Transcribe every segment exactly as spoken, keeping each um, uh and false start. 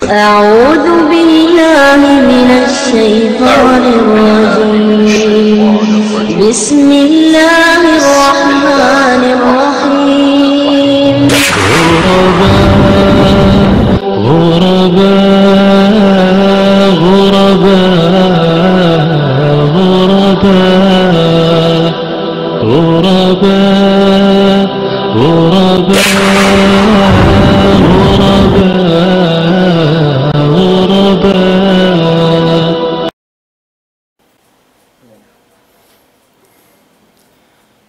أعوذ بالله من الشيطان الرجيم. بسم الله الرحمن الرحيم. غرباء، غرباء، غرباء، غرباء. غرباء، غرباء، غرباء، غرباء.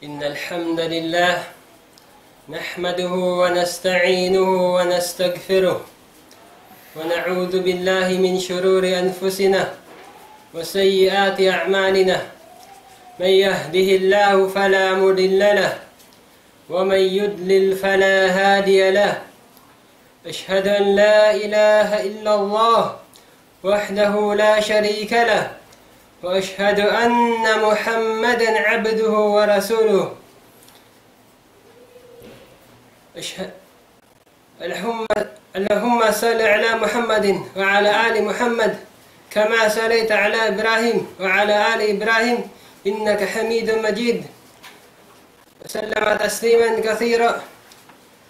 إن الحمد لله نحمده ونستعينه ونستغفره، ونعوذ بالله من شرور أنفسنا وسيئات أعمالنا. من يهده الله فلا مضل له، ومن يضلل فلا هادي له. أشهد أن لا إله إلا الله وحده لا شريك له، وأشهد أن محمدا عبده ورسوله. أشهد اللهم، اللهم صل على محمد وعلى آل محمد كما صليت على إبراهيم وعلى آل إبراهيم إنك حميد مجيد. وسلم تسليما كثيرا.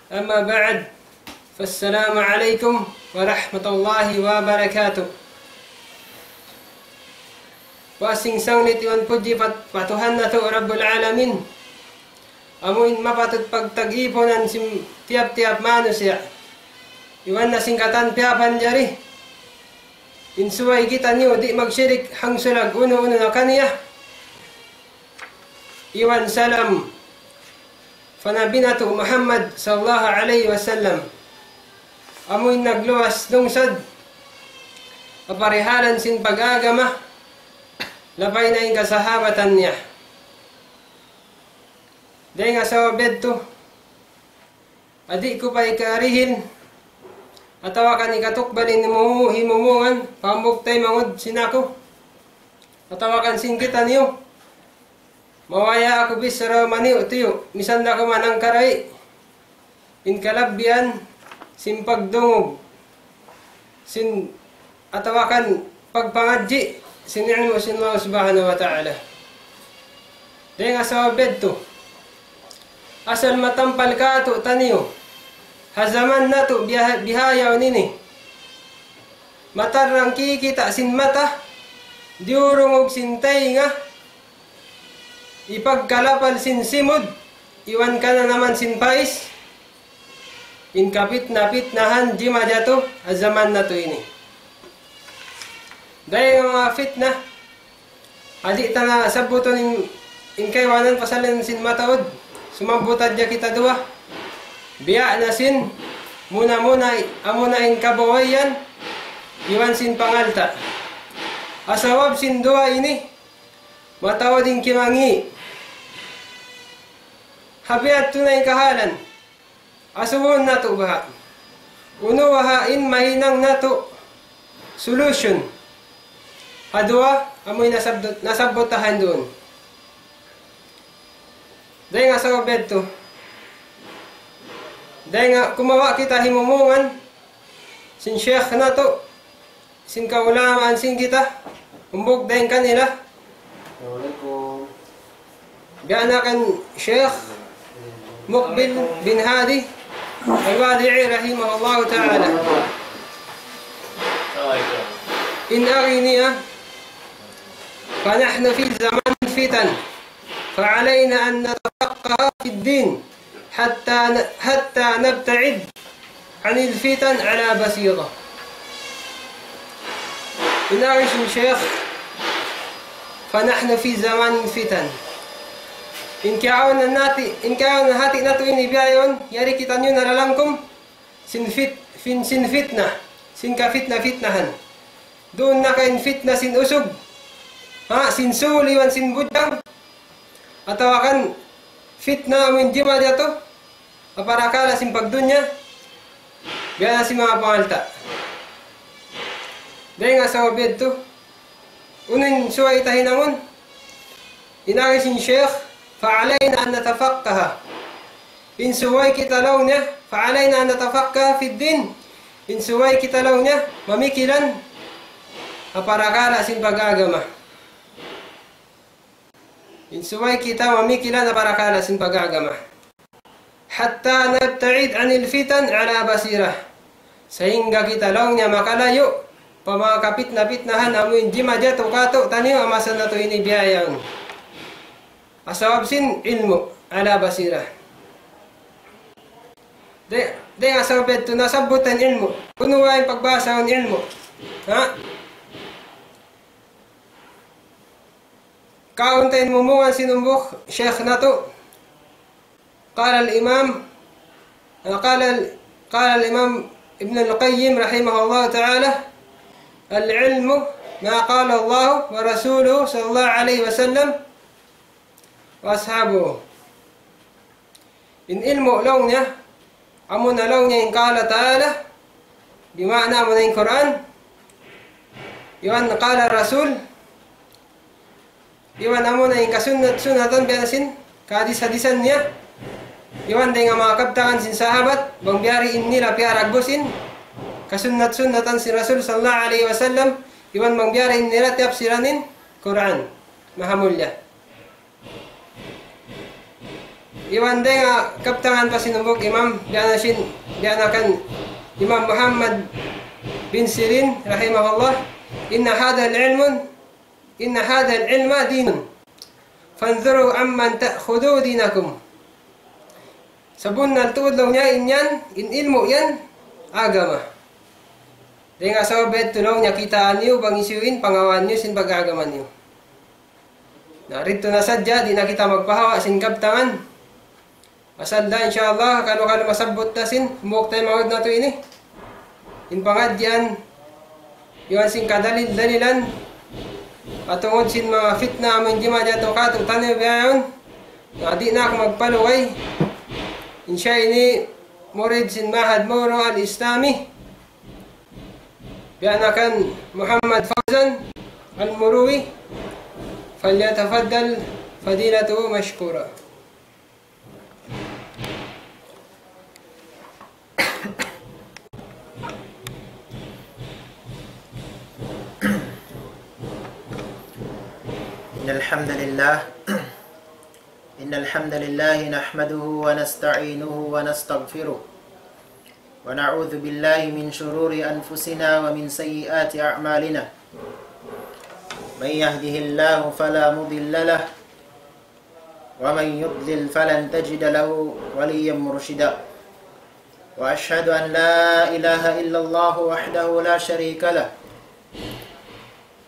أما بعد، فالسلام عليكم ورحمة الله وبركاته. Wa sing sanglit iban pudji pa, pa Tuhan natu' Rabbul Alamin. Amu in mapatut pagtag-ipunan sin tiyap-tiyap manusiya'. Iban na sin katan piyapanjari. In subay kitaniyu di' magsirik hangsulag unu-unu na kaniya. Iban salam pa Nabi natu' Muhammad sallallahu alayhi wasallam. Amu in nagluwas lungsad ha parihalan sin pag-agama, labay na in kasahabatan niya. Dayn ha sabab yadtu, di' ku pa hikarihil, atawa kan hikatukbal in himu-, himumungan, pa hambuuk taymanghud sin aku, atawa kan sin kitaniyu. Mabaya' aku bichara maniyu'-tiyu', misan da aku manangkaray in kalabbihan sin pagdungug sin atawa kan pagpangadji' sin ilmu' sin Allah Subhanahu wa Ta'ala. Dayn ha sabab yadtu, asal matampal kātu'niyu ha jaman natu' biha-, bihaun ini. Matarrang kikita' sin mata, diyurungug sin taynga, hipagkalapal sin simud, iban kananaman sin pais, in kapitna-pitnahan jimajatu ha jaman natu' ini. Dayn ha manga pitna, di' ta na sabbutun in, in kaibanan pasal sin mataud, sumabbut hadja kita duwa. Biya' na sin muna-muna, amuna in kabuhianan, iban sin pangalta'. Ha sabab sin duwa ini, mataud in kimangi'. Ha biya' hādtu na in kahalan. Asubuhun natu' baha'. Unu baha' in mahinang natu' solution ha duwa amu in nasabbut, nasabbut ta ha yan duun. Dayn ha sabab yadtu. Dayn ha kumawa' kita himumungan sin sheikh natu', sin kaulamaan sin kita, hambuuk dayn kanila. Assalamualaikum. Biya' na kan Sheikh Muqbil bin Hadi Al-Wadi'i rahimahullahu ta'ala. In agi niya, فنحن في زمان فتن، فعلينا أن نتفقه في الدين. حتى ن-، حتى نبتعد عن الفتن على بصيرة. In agi sin Sheikh, فنحن في زمان فتن. In kiyaun natu', in kiyaun hati natu' ini bihaun, yari kitaniyu nalalangkum, sin fit-, fin-, sin fitna, sin kafitna-fitnahan. Duun na ka in fitna sin usug, ha, sin sul iban sin budjang, atawa kan fitna amu in jimajatu, ha parakala' sin pagdunya, biya' na sin manga pangalta'. Dayn ha sabab yadtu, unu in subay ta hinangun, in agi sin Sheikh, فعلينا أن نتفقه. In subay kita laung niya, فعلينا أن نتفقه في الدين. In subay kita laung niya, mamikilan ha parakala' sin pag-agama. In subay kita mamikilan ha parakala' sin pag-agama. حتى نبتعد عن الفتن على بصيرة. Sahingga kita laung niya makalayu' pa manga kapitna-pitnahan amu in jimajatu katu'taniyu ha masa natu' ini biya' yaun. Ha sabab sin ilmu', على بصيرة. Di', di' ha sabab yadtu nasabbut in ilmu'. Unu in pagbahasa in ilmu'? Ha? Kaun ta in mumungan sin hambuuk shaykh natu'. قال الإمام، قال، قال الإمام ابن القيم رحمه الله تعالى: العلم ما قال الله ورسوله صلى الله عليه وسلم وأصحابه. In ilmu' laung niya, amuna laung niya in قال تعالى, bima'na amuna in Qur'an, iban قال الرسول, iban amuna in kasunnat-sunnatan biya' na sin kahadis-hadisan niya, iban dayn ha manga kabtangan sin sahabat, bang biya' diin nila piyaragbusin kasunnat-sunnatan sin Rasul sallallahu alayhi wasallam, iban bang biya' diin nila tiyapsiran in Qur'an. Mahamulliya. Iban dayn ha kabtangan pa sin hambuuk imam, biya' na sin, biya' na kan Imam Muhammad bin Sirin, rahimahullah, إن هذا العلم، إن هذا العلم دين، فانظروا عمن تأخذون دينكم. Sabunnal tuud laung niya in yan, in ilmu' yan, agama. Dayn ha sabab yadtu laung niya kitaa niyu bang hisiyu in pangawaan niyu sin pag-agama niyu. Na, didtu na sadja, di' na kita magpahawa' sin kabtangan. Asal da, insya Allah, kalu-kalu masabbut na sin, hambuuk taymanghud natu' ini. In pangadjian, iban sin kadalil-dalilan, patungud sin manga fitna, amu in jimajatu katu'taniyu biya' yaun. Na, di' na aku magpaluway. In siya ini, murid sin Mahad Moro Al-Islami. Biya' na kan Muhammad Fawzan Al-Muruwi, فليتفضل فضيلته مشكورا. إن الحمد لله، إن الحمد لله نحمده ونستعينه ونستغفره، ونعوذ بالله من شرور أنفسنا ومن سيئات أعمالنا. من يهده الله فلا مضل له، ومن يضلل فلن تجد له وليا مرشدا. وأشهد أن لا إله إلا الله وحده لا شريك له،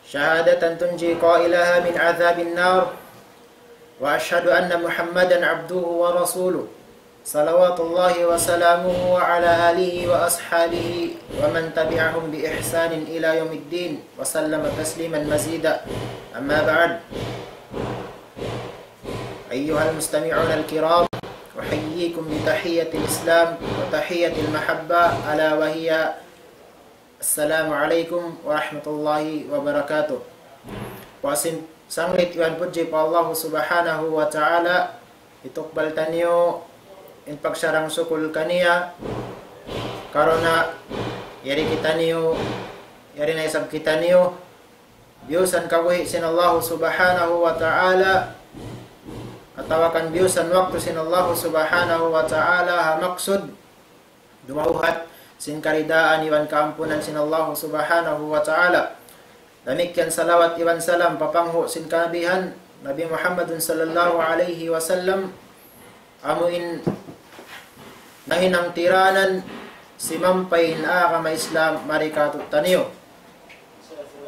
شهادة تنجي قائلها من عذاب النار. وأشهد أن محمدا عبده ورسوله، صلوات الله وسلامه على آله وأصحابه ومن تبعهم بإحسان إلى يوم الدين، وسلم تسليما مزيدا. أما بعد، أيها المستمعون الكرام، أحييكم بتحية الإسلام وتحية المحبة، ألا وهي السلام عليكم ورحمة الله وبركاته. Puas sin sanglit iban pudji pa Allah Subhanahu wa Ta'ala, hitukbal taniyu in pagsarang-sukul kaniya, karna' yari kitaniyu, yari na isab kitaniyu, biyusan kabuhi' sin Allah Subhanahu wa Ta'ala, atawa kan biyusan waktu sin Allah Subhanahu wa Ta'ala, ha maksud dumawhat sin karidaan iban kaampunan sin Allah Subhanahu wa Ta'ala. Damikkiyan salawat iban salam pa panghu' sin kanabihan, Nabi Muhammadun sallallahu alayhi wasallam, amu in nahinang tiranan simampay in agama Islam mari katu'taniyu.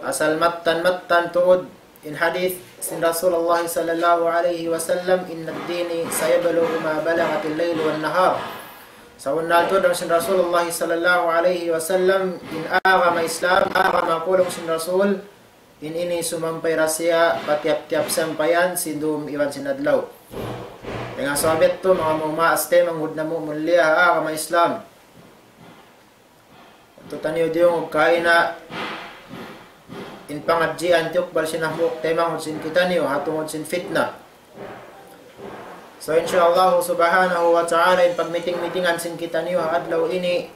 Asal mattan-mattan tuud in hadith sin Rasulullah sallallahu alayhi wasallam, إن الدين سيبلغ ما بلغت الليل والنهار. Sabunnal tuud laung sin Rasulullah sallallahu alayhi wasallam, in agama Islam, agama ku laung sin Rasul, in ini sumampay da siya pa tiyap-tiyap sampayan sin dum iban sin adlaw. Dayn ha sabab yadtu, manga maas taymanghud namu' mulliya ha agama Islam, tu'taniyu diyungug kaina in pangadjian tiyukbal sin hambuuk taymanghud sin kitaniyu, ha tungud sin fitna. So, insya Allah Subhanahu wa Ta'ala, in pagmiting-mitingan sin kitaniyu ha adlaw ini,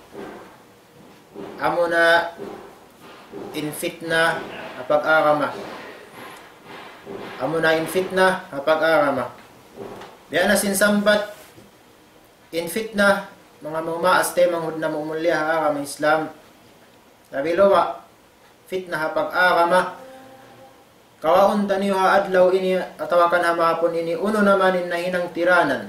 amuna in fitna ha pag-agama. Amuna in fitna ha pag-agama. Biya' na sin sambat, in fitna, manga maumaas taymanghud namu' mulliya ha agama Islam. Labi luwa, fitna ha pag-agama. Kawaun taniyu ha adlaw ini atawa kan ha mahapun ini, unu na man in nahinang tiranan.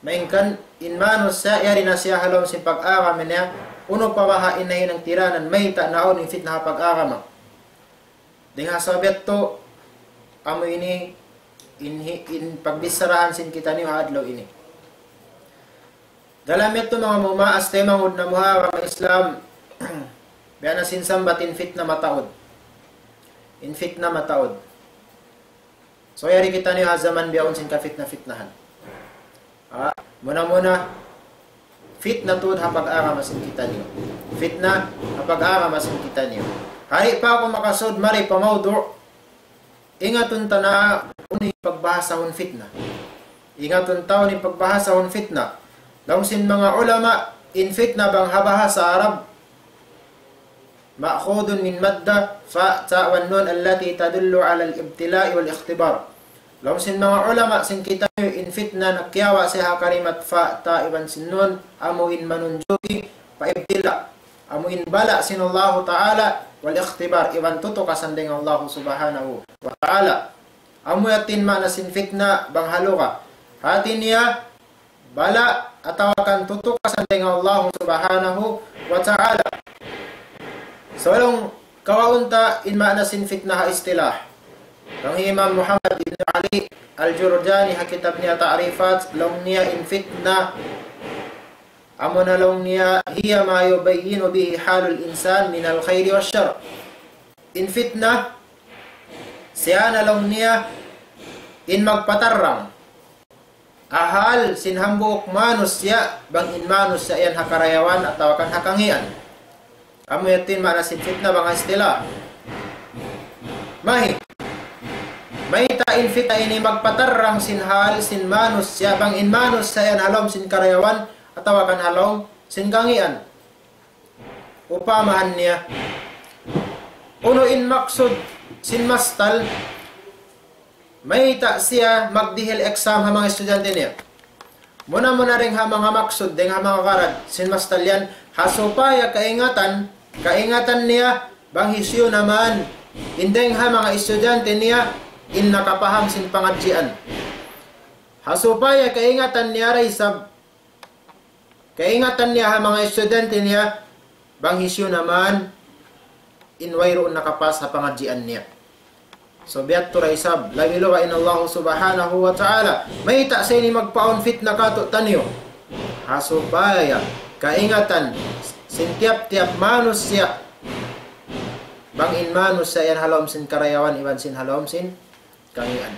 Malayngkan in manusiya' yari na siya ha lawm sin pag-agama niya, unu pa baha' in nahinang tiranan, mayta' naawn in fitna ha pag-agama. Dayn ha sabab yadtu, amu ini in, in pagbicharahan sin kitaniyu ha adlaw ini. Dalam yadtu manga maumaas taymanghud namu' ha agama Islam, biya' na sin sambat in fitna mataud. In fitna mataud. So, yari kitaniyu ha jaman bihaun sin kafitna-fitnahan. Ah, muna-muna, fitna tuud ha pag-agama sin kitaniyu. Fitna ha pag-agama sin kitaniyu. Di' pa aku makasud mari pa mawdu', ingatun ta na unu in pagbahasahun fitna. Ingatun ta unu in pagbahasahun fitna. Laung sin manga ulama, in fitna bang ha bahasa Arab, مأخوذ من مادة فاء تاء والنون التي تدل على الابتلاء والاختبار. Laung sin manga ulama sin kitaniyu, in fitna nagkiyawa' siya ha kalimat fa, ta iban sin nun, amu in manunjuki pa ibtila'. Amu in bala' sin Allahu Ta'ala, wal ikhtibar, iban tutukasan dayn ha Allahu Subhanahu wa Ta'ala. Amu yadtu in maana sin fitna bang ha lugha. Hati niya, bala' atawa kan tutukasan dayn ha Allahu Subhanahu wa Ta'ala. So, laung, kawaun ta in maana sin fitna ha istilah. Laung Imam Muhammad ibn Ali Al-Jurjani ha kitab niya Ta'rifat, laung niya in fitna, amuna laung niya, هي ما يبين به حال الإنسان من الخير والشر. In fitna, siya na laung niya, in magpatarrang ha hal sin hambuuk manusiya', bang in manusiya' yan ha karayawan atawa kan ha kangīan. Amu yadtu in maana sin fitna bang ha istilah. Mahi. Mayta' in fitna ini magpatarrang sin hal sin manusiya', bang in manusiya' yan ha lawm sin karayawan atawa kan ha lawm sin kangīan. Upamahan niya, unu in maksud sin mastal, mayta' siya magdihil exam ha manga estudyante niya. Muna-muna dayn ha manga maksud, dayn ha manga gharad sin mastal yan, ha supaya kaingatan, kaingatan niya, bang hisiyu na man in dayn ha manga estudyante niya in nakapaham sin pangadjian. Ha supaya kaingatan niya da isab, kaingatan niya ha manga estudyante niya, bang hisiyu na man in wayruun nakapas ha pangadjian niya. So, biya' yadtu da isab, labi luba' in Allahu Subhanahu wa Ta'ala. Mayta' sa ini magpaawn fitna kātu'niyu? Ha supaya kaingatan sin tiyap-tiyap manusiya', bang in manusiya' yan ha lawm sin karayawan iban sin ha lawm sin kangīan.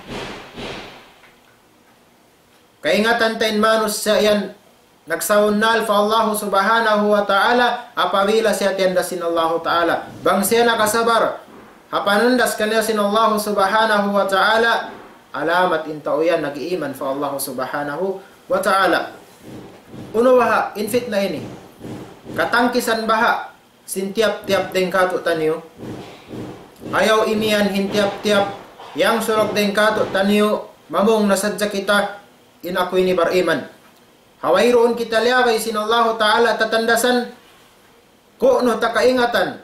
Kaingatan ta in manusiya' yan nagsabunnal pa Allahu Subhanahu wa Ta'ala, apabila siya tiyandas sin Allahu Ta'ala. Bang siya nakasabar ha panandas kaniya sin Allahu Subhanahu wa Ta'ala, alamat in tau yan nag-iiman pa Allahu Subhanahu wa Ta'ala. Unu baha' in fitna ini? Katangkisan baha' sin tiyap-tiyap dayn kātu'niyu? Ayaw imiyan in tiyap-tiyap yang surug dayn kātu'niyu, mamung na sadja kita, in aku ini bariman. Ha wayruun kita liyagay sin Allahu Ta'ala tatandasan, kunu' ta kaingatan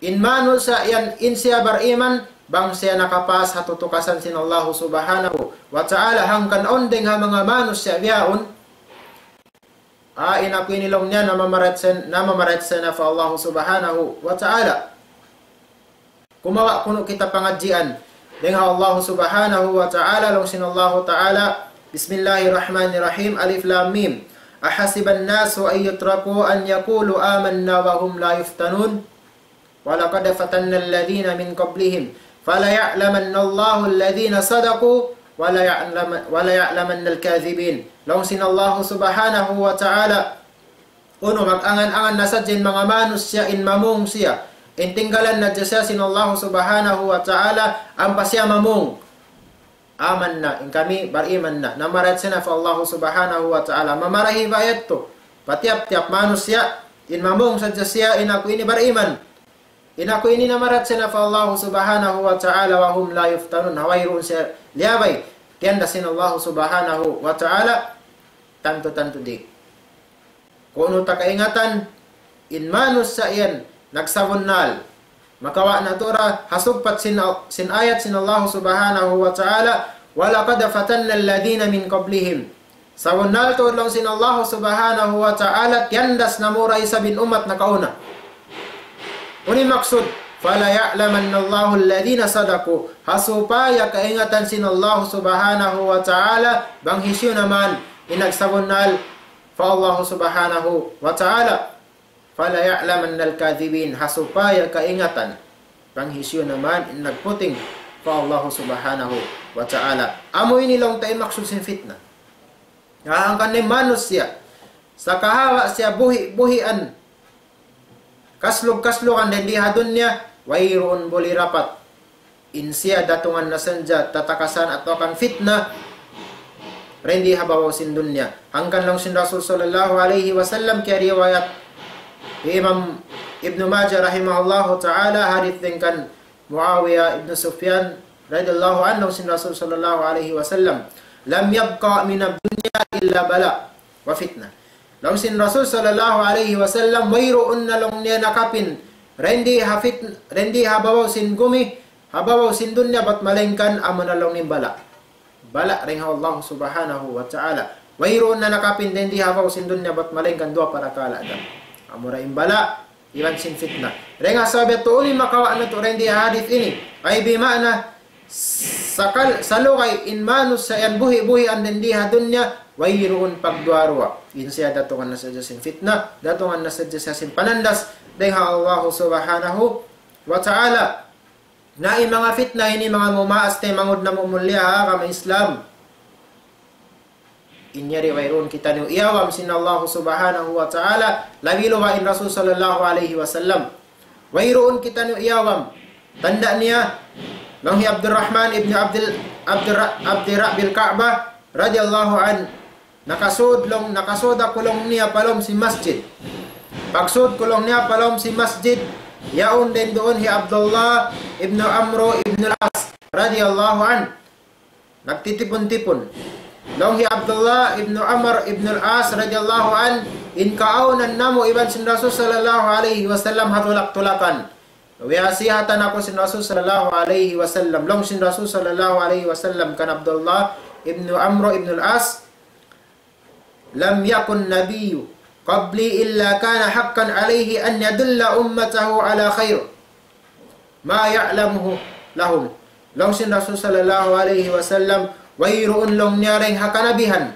in manusiya' yan in siya bariman, bang siya nakapas ha tutukasan sin Allahu Subhanahu wa Ta'ala, hangkan awn dayn ha manga manusiya' bihaun, ah, in aku ini laung niya namamarachaya, namamarachaya na pa Allahu Subhanahu wa Ta'ala. Kumawa' kunu' kita pangadjian dayn ha Allahu Subhanahu wa Ta'ala, laung sin Allahu Ta'ala, بسم الله الرحمن الرحيم. ألف لام ميم. أحسب الناس أن يتركوا أن يقولوا آمنا وهم لا يفتنون. ولقد فتنا الذين من قبلهم. فليعلمن الله الذين صدقوا وليعلم-، وليعلمن الكاذبين. Laung sin Allahu Subhanahu wa Ta'ala, unu, mag-angan-angan na sadja in manga manusiya' in mamung siya, in tinggalan na sadja siya sin Allahu Subhanahu wa Ta'ala, ampa siya mamung, "Amanna, in kami bariman na." Namamarachaya na pa Allahu Subhanahu wa Ta'ala. Mamarahi ba yadtu pa tiyap-tiyap manusiya'? In mamung sadja siya, in aku ini bariman. In aku ini namarat siya pa Allah Subhanahu wa Ta'ala, وهم لا يفتنون. Ha wayruun siya liyabay. Tiyandas sin Allah Subhanahu wa Ta'ala, tantu-tantu di'. Kunu' ta kaingatan, in manusiya' yan, nagsabunnal. Makawa' natu' ra, ha sugpat sin, sin ayat sin Allah Subhanahu wa Ta'ala, ولقد فتنا الذين من قبلهم. Sabunnal tuud laung sin Allah Subhanahu wa Ta'ala, tiyandas namu' ra isab in ummat nakauna. Unu in maksud, فليعلمن الله الذين صدقوا. Ha supaya kaingatan sin Allah Subhanahu wa Ta'ala, bang hisiyu na man in nagsabunnal pa Allah Subhanahu wa Ta'ala. فليعلمن الكاذبين. Ha supaya kaingatan, bang hisiyu na man in nagputing pa Allah Subhanahu wa Ta'ala. Amu ini laung ta in maksud sin fitna. Hangkan in manusiya', sakahawa siya buhi'-buhian, kaslug-kaslugan dayn di ha dunya, wayruun buli rapat. In siya datungan na sadja tatakasan atawa kan fitna, dayn di ha babaw sin dunya. Hangkan laung sin Rasul sallallahu alayhi wasallam, kiyariwayat hi Imam Ibnu Majah rahimahullahu ta'ala, hadith dayn kan Muawiya ibn Sufyan radiyallahu anhu, laung sin Rasul sallallahu alayhi wasallam, لم يبق من الدنيا إلا بلاء وفتنة. Laung sin Rasul sallallahu alayhi wasallam, wayruun na laung niya nakapin, dayn di ha fit-, dayn di ha babaw sin gumi, ha babaw sin dunya, bat malaingkan amu na laung niya bala'. Bala' dayn ha Allah Subhanahu wa Ta'ala. Wayruun na nakapin dayn di ha babaw sin dunya, bat malaingkan duwa parakala' da. Amu ra in bala', iban sin fitna. Dayn ha sabab yadtu, unu in makawa' natu' dayn di ha hadith ini. Ay bima'na, sakal-, salugay in manusiya' yan buhi'-buhian dayn di ha dunya, wayruun pagduwa-ruwa. In siya datungan na sadja sin fitna, datungan na sadja siya sin panandas dayn ha Allah Subhanahu wa Ta'ala. Na in manga fitna ini, manga mumaas taymanghud namu' mulia ha agama Islam, in yari wayruun kitaniyu iyawam sin Allah Subhanahu wa Ta'ala, labi luba in Rasul sallallahu alayhi wasallam. Wayruun kitaniyu iyawam. Tanda' niya, laung hi Abdurrahman ibn Abdul, Abdurra-, Abdi Rabbil Ka'bah radiyallahu anhu, nakasud laung, nakasud aku laung niya pa lawm sin masjid. Pagsud ku laung niya pa lawm sin masjid, yaun dayn duun hi Abdullah ibn Amru ibn al-As radiyallahu anhu. Nagtitipun-tipun. Laung hi Abdullah ibn Amr ibn al-As radiyallahu anhu, in kaawnan namu' iban sin Rasul sallallahu alayhi wasallam ha tulak-tulakan. Wiyasihatan aku sin Rasul sallallahu alayhi wasallam. Laung sin Rasul sallallahu alayhi wasallam kan Abdullah ibn Amr ibn al-As, لم يكن نبي قبلي إلا كان حقا عليه أن يدل أمته على خير ما يعلمه لهم. Laung sin Rasul sallallahu alayhi wasallam, wayruun laung niya dayn ha kanabihan,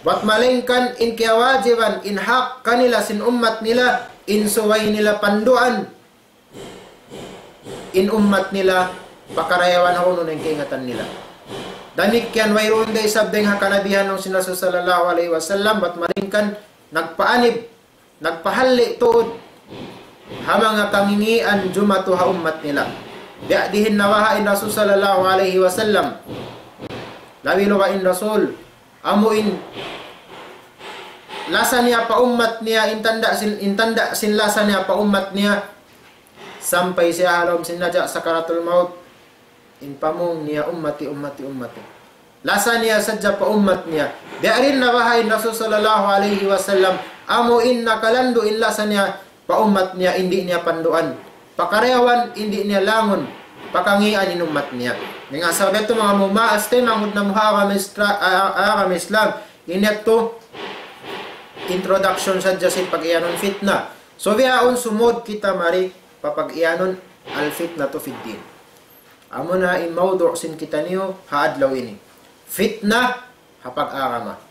bat malaingkan in kiyawajiban, in hak kanila sin ummat nila, in subay nila panduan in ummat nila, pakarayawan ha unu na in kaingatan nila. Damikkiyan wayruun da isab dayn ha kanabihan laung sin Rasul sallallahu alayhi wasallam, bat malaingkan nagpaanib, nagpahalli' tuud ha manga kangingian jumatu ha ummat nila. Biya' diin nabaha' in Rasul sallallahu alayhi wasallam. Labi luba in Rasul, amu in lasa niya pa ummat niya, in tanda' sin, in tanda' sin lasa niya pa ummat niya, sampay siya ha lawm sin naja' sakaratul maut, in pamung niya, "Ummati, ummati, ummati." Lasa niya sadja pa ummat niya. Biya' diin nabaha' in Rasul sallallahu alayhi wasallam, amu in nakalandu' in lasa niya pa ummat niya, in di' niya panduan. Pakarayawan, in di' niya langun. Pakangian in ummat niya. Dayn ha sabab yadtu, manga mumaas taymanghud namu' ha agama Istra-, a-, a-, agama Islam. Ini yadtu introduction sadja sin pag-iyanun fitna. So, bihaun sumud kita mari pa pag-iyanun al-fitnatu fid din. Amuna in mawdu' sin kitaniyu ha adlaw ini. Fitna ha pag-agama.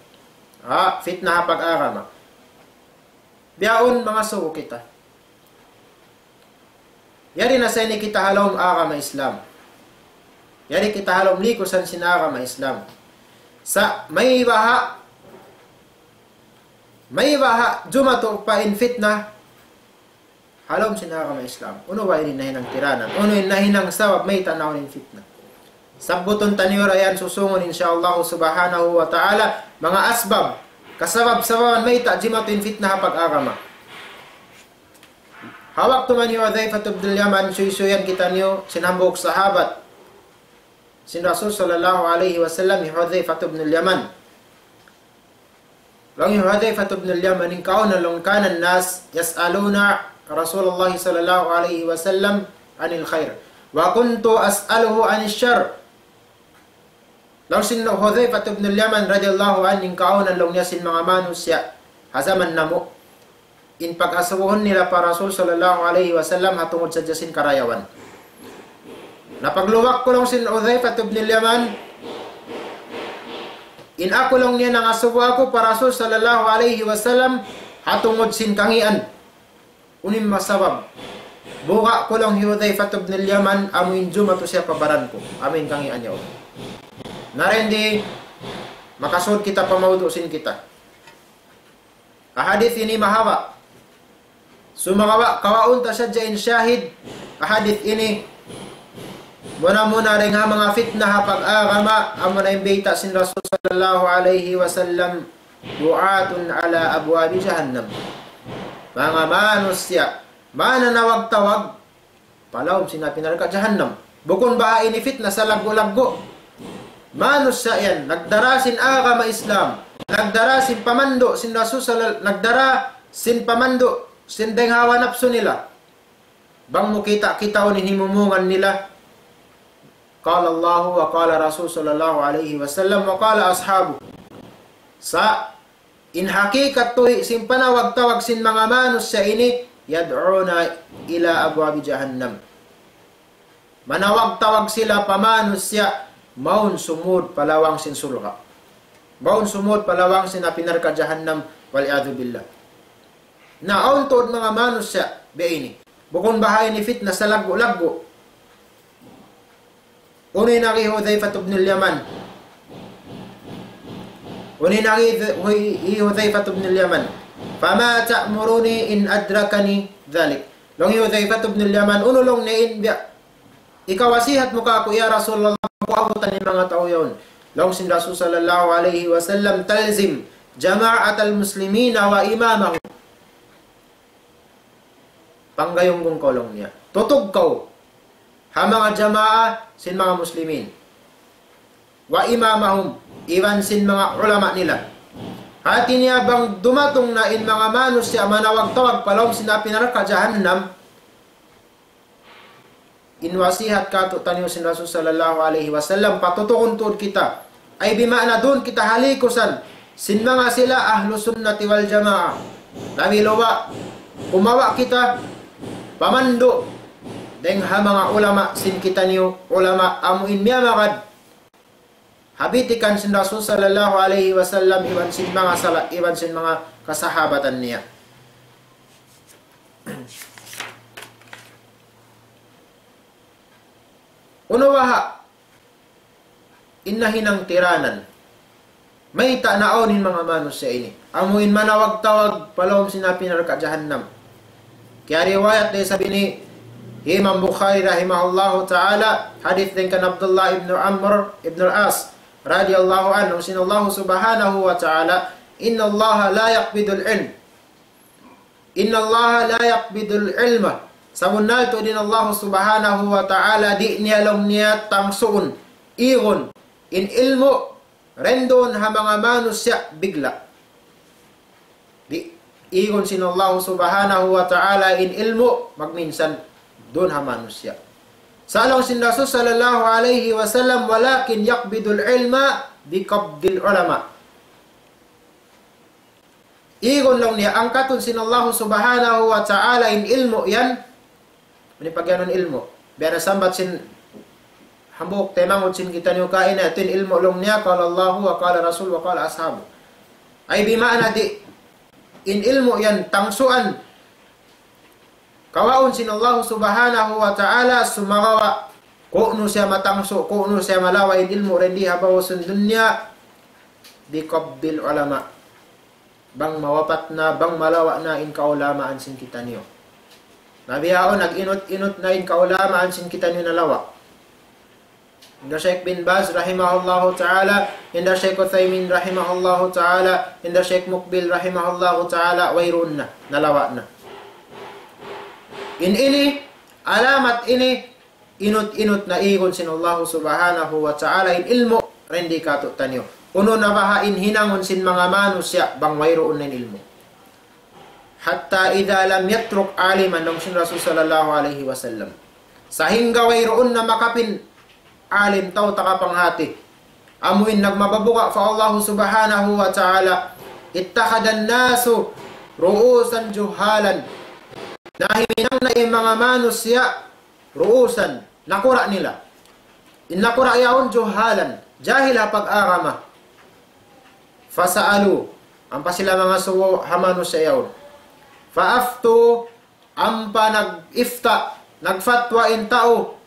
Ha, fitna ha pag-agama. Bihaun mangasubu kita. Yari na sa ini kita ha lawm agama Islam. Yari kita ha lawm likusan sin agama Islam. Sa' maybaha', maybaha' jumatu pa in fitna ha lawm sin agama Islam. Unu ba ini nahinang tiranan? Unu in nahinang sabab mayta' naun in fitna? Sabbutun taniyu ra yan susungun, insya Allah subhanahu wa ta'ala, manga asbab kasabab-sababan mayta' jimatu in fitna ha pag-agama. Ha waktu man hi Hudhayfah ibn al-Yaman, suysuyan kitaniyu sin hambuuk sahabat sin Rasul sallallahu alayhi wasallam, hi Hudhayfah ibn al-Yaman. Laung hi Hudhayfah ibn al-Yaman, in kauna laung كان الناس يسألون رسول الله صلى الله عليه وسلم عن الخير وكنت أسأله عن الشر. Laung sin Hudhayfah ibn al-Yaman radiyallahu anhu, in kauna laung niya sin manga manusiya' ha jaman namu', in pag-asubuhun nila pa Rasul sallallahu alayhi wasallam ha tungud sadja sin karayawan. Na pagluwak ku laung sin Hudhayfah ibn al-Yaman, in aku laung niya nangasubu aku pa Rasul sallallahu alayhi wasallam ha tungud sin kangīan. Unu in masabab? Buga' ku laung hi Hudhayfah ibn al-Yaman, amu in jumatu siya pa baran ku, amu in kangīan niya. Na dayn di, makasud kita pa mawdu' sin kita. Ha hadith ini mahaba'. Sumagawa', kawaun ta sadja in shahid ha hadith ini. Muna-muna dayn ha manga fitna ha pag-agama, amuna in bayta' sin Rasul sallallahu alayhi wasallam, دعاة على أبواب جهنم. Manga manusiya', mananawag-tawag pa lawm sin api narka' jahannam. Bukun baha' ini fitna salaggu'-laggu'. Manusiya' yan, nagdara sin agama Islam, nagdara sin pamandu' sin Rasul sallal-, nagdara sin pamandu' sin dayn ha hawa napsu nila. Bang mu kita'-kitaun in himumungan nila. قال الله وقال رسول صلى الله عليه وسلم وقال أصحابه. Sa' in hakikat tuhi' sin panawag-tawag sin manga manusiya' ini, يدعون إلى أبواب جهنم. Manawag-tawag sila pa manusiya' mawn sumud pa lawang sin surga'. Mawn sumud pa lawang sin api narka' jahannam, والعياذ بالله. Na awn tuud manga manusiya' biya' ini. Bukun baha' ini fitna salaggu'-laggu'. Unu in agi Hudhayfah ibn al-Yaman? Unu in agi Hu-, hi Hudhayfah ibn al-Yaman? فما تأمرني إن أدركني ذلك. Laung hi Hudhayfah ibn al-Yaman, unu laung niya in biya', hikawasihat mu kāku', ya Rasulullah, bang ku abutan in manga tau yaun? Laung sin Rasul sallallahu alayhi wasallam, تلزم جماعة المسلمين وإمامهم. Panggayunggung kaw laung niya. Tutug kaw ha manga jamaa sin manga muslimin. وإمامهم, iban sin manga ulama nila. Hāti niya bang dumatung na in manga manusiya' manawag-tawag pa lawm sin api narka' jahannam, in wasihat kātu'niyu sin Rasul sallallahu alayhi wasallam, patutugun tuud kita. Ay bima'na duun kita ha likusan sin manga sila Ahlus Sunnati wal Jamaah. Labi-labi, kumawa' kita pamandu' dayn ha manga ulama sin kitaniyu, ulama amu in miyamagad ha bitikan sin Rasul sallallahu alayhi wasallam, iban sin manga sala-, iban sin manga kasahabatan niya. Unu baha' in nahinang tiranan? Mayta' naawn in manga manusiya' ini? Amu in manawag-tawag pa lawm sin api narka' jahannam. Kiyariwayat da isab ini hi Imam Bukhari rahimahullahu ta'ala, hadith dayn kan Abdullah ibn Amr ibn al-As radiyallahu anhu, sin Allah subhanahu wa ta'ala, إن الله لا يقبض العلم إن الله لا يقبض العلم. Sabunnal tuud in Allah subhanahu wa ta'ala di' niya laung niya tangsuun, igun, in ilmu', dayn duun ha manga manusiya' bigla'. Di', igun sin Allah subhanahu wa ta'ala in ilmu', magminsan duun ha manusiya'. Sa' laung sin Rasul sallallahu alayhi wasallam, ولكن يقبض العلم بقبض العلماء. Igun laung niya, angkatun sin Allah subhanahu wa ta'ala in ilmu' yan. Ini pagyanun ilmu'. Biya' na sambat sin hambuuk taymanghud sin kitaniyu kaina, yadtu in ilmu' laung niya, قال الله وقال رسول وقال أصحابه. Ay bima'na di', in ilmu' yan, tangsuan, kawaun sin Allah subhanahu wa ta'ala, sumagawa' ku'nu siya matangsu, ku'nu siya malawa' in ilmu' dayn di ha babaw sin dunya, بقبض العلماء. Bang mawapat na, bang malawa' na in kaulamaan sin kitaniyu. Na bihaun, nag-inut-inut na in kaulamaan sin kitaniyu nalawa'. Hinda Sheikh bin Baz rahimahullahu ta'ala, hinda Sheikh Uthaymin rahimahullahu ta'ala, hinda Sheikh Mukbil rahimahullahu ta'ala, wayruun na, nalawa' na. In ini, alamat ini, inut-inut na igun sin Allah subhanahu wa ta'ala in ilmu' dayn di kātu'niyu. Unu na baha' in hinangun sin manga manusiya' bang wayruun na in ilmu'. حتى إذا لم يترك عالما, laung sin Rasul sallallahu alayhi wasallam. Sahingga wayruun na makapin alim tau takapanghati. Amu in nagmababuga' pa Allah subhanahu wa ta'ala. اتخذ الناس رؤوسا جهالا. Na himinang na in manga manusiya' ru'usan, nakura' nila. In nakura' yaun juhalan, jahil ha pag-agama. فسألوا, ampa sila mangasubu ha manusiya' yaun. فأفتوا, ampa nag-ifta, nagfatwa in tau,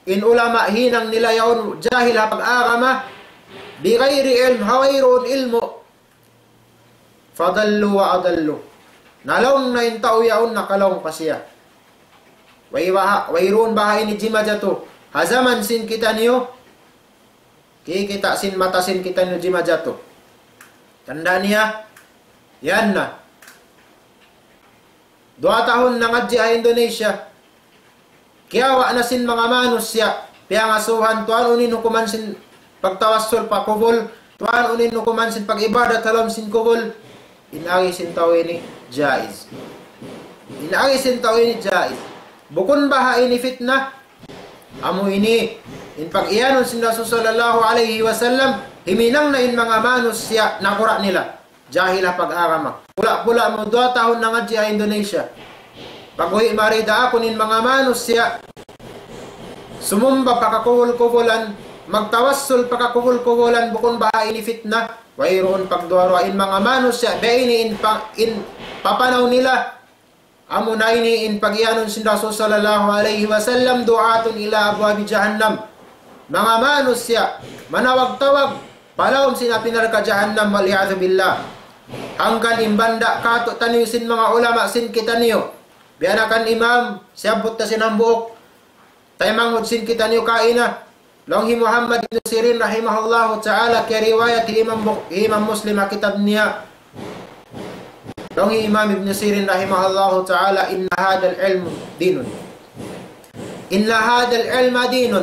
in ulama hinang nila yaun jahil ha pag-agama, بغير علم, ha wayruun ilmu'. فضلوا وأضلوا. Nalaung na in tau yaun, nakalaung pa siya. Way baha', wayruun baha' ini jimajatu. Ha jaman sin kitaniyu, kikita' sin mata sin kitaniyu jimajatu. Tanda' niya, yan na. Duwa tahun nangadji' ha Indonesia. Kiyawa' na sin manga manusiya', piyangasubuhan, tuwan unu in hukuman sin pagtawassul pa kubul, tuwan unu in hukuman sin pag-ibadat ha lawm sin kubul. In agi sin tau ini jaiz. In agi sin tau ini jaiz. Bukun baha' ini fitna, amu ini in pag-iyanun sin Rasul sallallahu alayhi wasallam, himinang na in manga manusiya' nakura' nila. Jahil ha pag-agama. Pula-pula mu duwa tahun nangadji' ha Indonesia. Pag-uwi' mari daakun in manga manusiya', sumumba pa kakubul-kubulan, magtawassul pa kakubul-kubulan, bukun baha' ini fitna. Wayruun pagduwa-ruwa in manga manusiya', biya' ini in pa-, in papanaw nila. Amuna ini in pag-iyanun sin Rasul sallallahu alayhi wasallam, دعاة إلى أبواب جهنم. Manga manusiya', manawag-tawag, pa lawm sin api narka' jahannam, والعياذ بالله. Hangkan in banda' kātu'niyu sin manga ulama sin kitaniyu. Biya' na kan imam, siyabbut ta sin hambuuk. Taymanghud sin kitaniyu kaina. Laung hi Muhammad ibn Sirin rahimahullahu ta'ala, kiyariwayat hi Imam Bu-, Imam Muslim ha kitab niya. Laung hi Imam Ibn Sirin rahimahullahu ta'ala, إن هذا العلم دين. إن هذا العلم دين.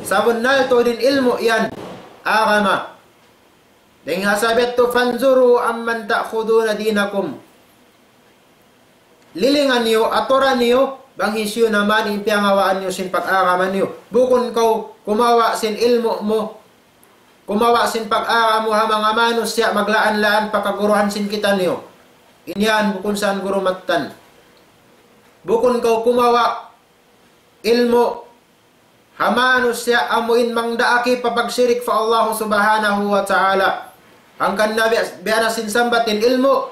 Sabunnal tuud in ilmu' yan, agama. Dayn ha sabab yadtu, فانظروا عمن تأخذون دينكم. Lilingan niyu, aturan niyu, bang hisiyu na man in piyangawaan niyu sin pag-agama niyu. Bukun kaw kumawa' sin ilmu' mu, kumawa' sin pag-agama mu ha manga manusiya' maglaan-laan pa kaguruhan sin kitaniyu. In yan bukun sa yan guru mattan. Bukun kaw kumawa' ilmu' ha manusiya' amu in mangdaak pa pagsirik pa Allah subhanahu wa ta'ala. Hangkan na biya', biya' na sin sambat in ilmu',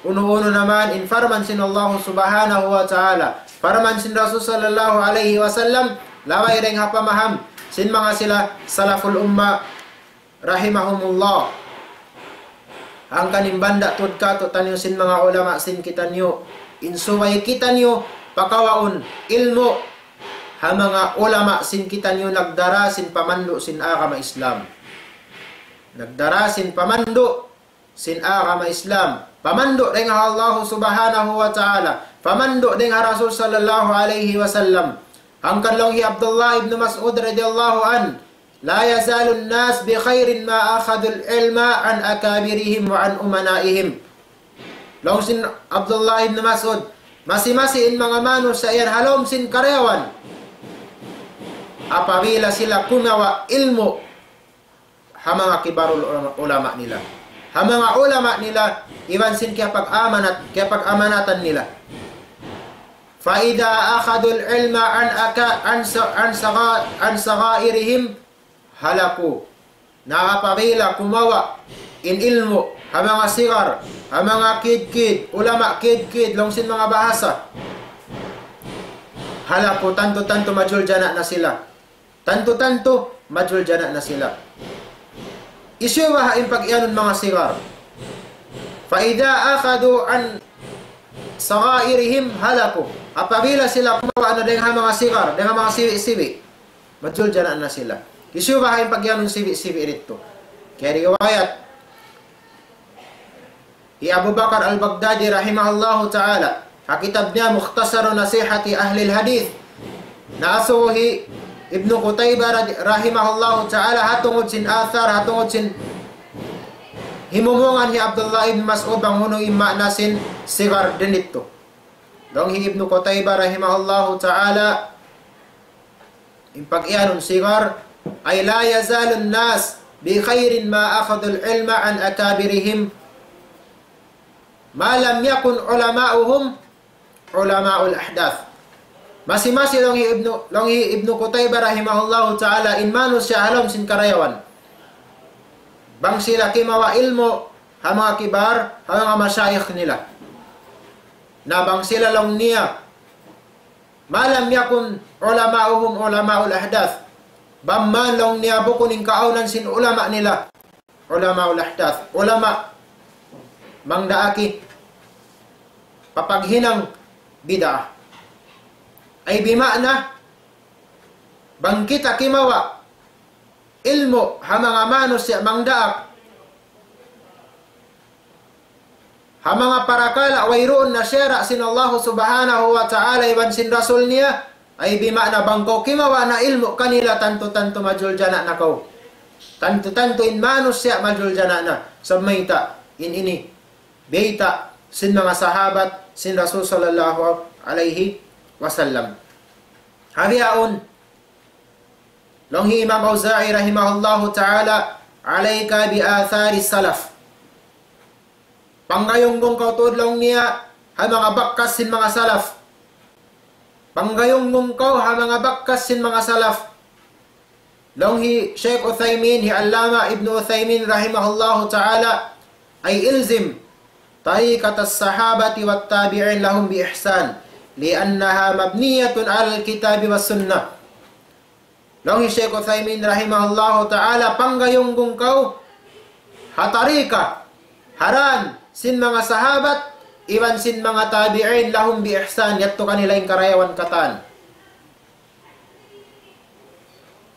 unu-unu na man in parman sin Allah subhanahu wa ta'ala, parman sin Rasul sallallahu alayhi wasallam, labay dayn ha pamaham sin manga sila salaful umma rahimahumullah. Hangkan in banda' tuud kātu'niyu sin manga ulama sin kitaniyu, in subay kitaniyu pakawaun ilmu' ha manga ulama sin kitaniyu nagdara sin pamandu' sin agama Islam. Nagdara sin pamandu' sin agama Islam. Pamandu' dayn ha Allah subhanahu wa ta'ala. Pamandu' dayn ha Rasul sallallahu alayhi wasallam. Hangkan laung hi Abdullah ibn Mas'ud radiyallahu anhu, لا يزال الناس بخير ما أخذوا العلم عن أكابرهم وعن أمنائهم. Laung sin Abdullah ibn Mas'ud, masi-masi in manga manusiya' yan ha lawm sin karayawan. Apabila sila kumawa' ilmu' ha manga kibarul ulama, ulama nila. Ha manga ulama nila, iban sin kiyapag-amanat, kiyapag-amanatan nila. فإذا أخذوا العلم عن أكا-، عن ص-، عن صغا-، عن صغائرهم هلكوا. Na apabila kumawa' in ilmu' ha manga sigar, ha manga kid-kid, ulama kid-kid, laung sin manga bahasa. هلكوا, tantu-tantu majuljana' na sila. Tantu-tantu, majuljana' na sila. Hisiyu baha' in pag-iyanun manga sigar? فإذا أخذوا عن صغائرهم هلكوا. Apabila sila kumawa' na dayn ha manga sigar, dayn ha manga sibi'-sibi', majuljana' na sila. Hisiyu baha' in pagiyanun sibi'-sibi' didtu? Kiyariwayat hi Abu Bakar al-Baghdadi rahimahullahu ta'ala, ha kitab niya Mukhtasaru Nasihati Ahlil Hadith, na asubu hi Ibnu Qutaybah radi-, rahimahullahu ta'ala, ha tungud sin athar, ha tungud sin himumungan hi Abdullah ibn Mas'ud bang unu in maana sin sighar didtu. Laung hi Ibnu Qutaybah rahimahullahu ta'ala, in pagiyanun sighar, أي لا يزال الناس بخير ما أخذوا العلم عن أكابرهم ما لم يكن علماؤهم علماء الأحداث. Masi-masi laung hi Ibnu, laung hi Ibnu Qutaybah rahimahullahu ta'ala, in manusiya' ha lawm sin karayawan, bang sila kimawa' ilmu' ha manga kibar, ha manga mashayikh nila. Na bang sila laung niya, ما لم يكن علماؤهم علماء الأحداث. Bang man laung niya bukun in kaawnan sin ulama nila, علماء الأحداث, ulama mangdaak, papaghinang bid'ah. Ay bima'na, bang kita kimawa' ilmu' ha manga manusiya' mangdaak, ha manga parakala' wayruun na sara' sin Allah subhanahu wa ta'ala iban sin Rasul niya, ay bima'na bang kaw kimawa' na ilmu' kanila, tantu-tantu majuljana na kaw. Tantu-tantu in manusiya' majuljana na. Sabab mayta', in ini bayta' sin manga sahabat sin Rasul sallallahu alayhi wasallam. Ha bihaun, laung hi Imam Awza'i rahimahullahu ta'ala, عليك بآثار السلف. Panggayunggung kaw tuud laung niya ha manga bakas sin manga salaf. Panggayunggung kaw ha manga bakas sin manga salaf. Laung hi Shaykh Uthaymin, hi Allama Ibn Uthaymin rahimahullahu ta'ala, أي الزم طريقة الصحابة والتابعين لهم بإحسان لأنها مبنية على الكتاب والسنة. Laung hi Shaykh Uthaymin rahimahullahu ta'ala, panggayunggung kaw ha tarika, ha dan sin manga sahabat, iban sin manga tabi'in, لهم بإحسان, yadtu kanila in karayawan katan.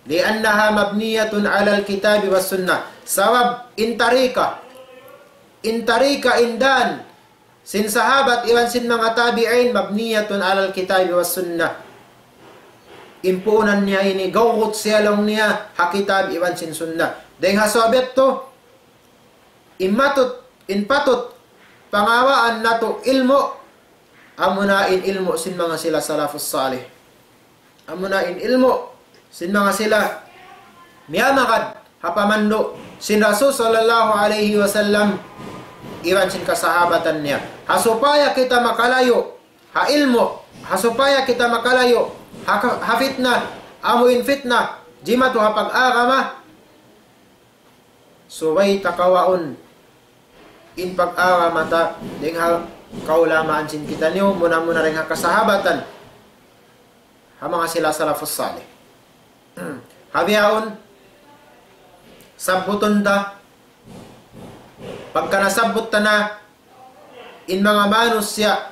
لأنها مبنية على الكتاب والسنة. Sabab in tarika, in tarika, in dan sin sahabat iban sin manga tabi'in, مبنية على الكتاب والسنة. In puunan niya ini, gawgut siya laung niya ha kitab iban sin sunnah. Dayng ha sabab yadtu, in matut, in patut pangawaan natu' ilmu', amuna in ilmu' sin manga sila salafus salih. Amuna in ilmu' sin manga sila miyamagad ha pamandu' sin Rasul sallallahu alayhi wasallam iban sin kasahabatan niya. Ha supaya kita makalayu' ha ilmu', ha supaya kita makalayu' ha ka-, ha fitna, amu in fitna jimatu ha pag-agama, subay ta kawaun in pag-agama ta dayng ha kaulamaan sin kitaniyu, muna-muna dayng ha kasahabatan, ha manga sila salafus salih. Ha bihaun, sabbutun ta, pagka nasabbut ta na, in manga manusiya'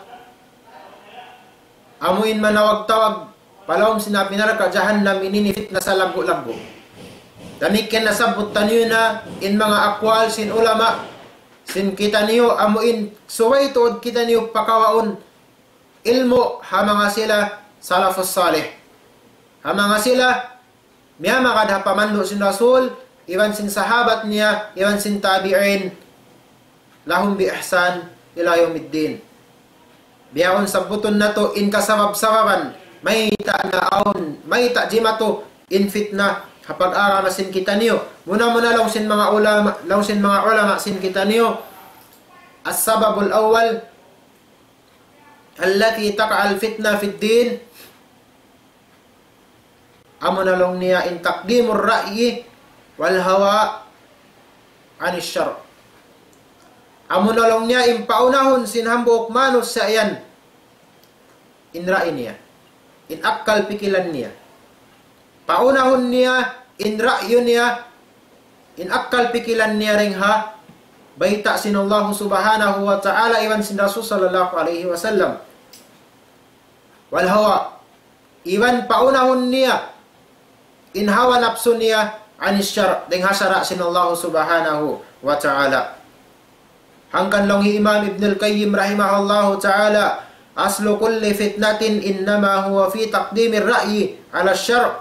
amu in manawag-tawag pa lawm sin api narka' jahannam, in ini fitna salaggu'-laggu'. Damikkiyan nasabbut taniyu na in manga aqwal sin ulama sin kitaniyu, amu in subay tuud kitaniyu pakawaun ilmu' ha manga sila salafus salih. Ha manga sila miyamagad ha pamandu' sin Rasul, iban sin sahabat niya, iban sin tabi'in, لهم بإحسان إلى يوم الدين. Bihaun sabbutun natu' in kasabab-sababan, mayta' naawn, mayta' jimatu in fitna ha pag-agama sin kitaniyu. Muna-muna laung sin manga ulama, laung sin manga ulama sin kitaniyu, السبب الأول التي تقع الفتنة في الدين, amuna laung niya in تقديم الرأي والهوى عن الشرع. Amuna laung niya in paunahun sin hambuuk manusiya' yan in ra'i niya, in akkal pikilan niya. Paunahun niya in ra'yu niya, in akkal pikilan niya dayng ha bayta' sin Allah subhanahu wa ta'ala iban sin Rasul sallallahu alayhi wasallam. والهوى, iban paunahun niya in hawa napsu niya عن الشرع, dayn ha sara' sin Allah Subhanahu wa Ta'ala. Hangkan laung hi Imam Ibn al-Qayyim rahimahullahu ta'ala, أصل كل فتنة إنما هو في تقديم الرأي على الشرع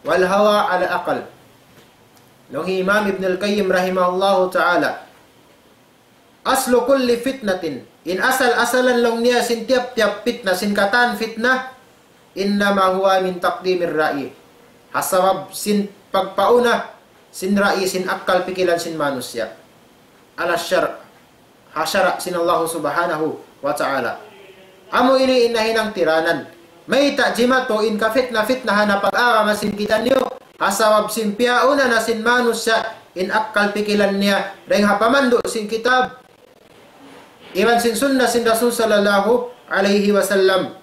والهوى على العقل. Laung hi Imam Ibn al-Qayyim rahimahullahu ta'ala, أصل كل فتنة, in asal-asalan laung niya sin tiyap-tiyap fitna, sin katan fitna, إنما هو من تقديم الرأي. Ha sabab sin pagpauna sin ra'yi, sin akkal pikilan sin manusiya'. على الشرع, ha sara' sin Allah Subhanahu wa Ta'ala. Amu ini in nahinang tiranan. Mayta' jimatu in kafitna-fitnahan ha pag-agama sin kitaniyu? Ha sabab sin piyauna na sin manusiya' in akkal pikilan niya dayn ha pamandu' sin kitab iban sin sunna sin Rasul sallallahu alayhi wasallam.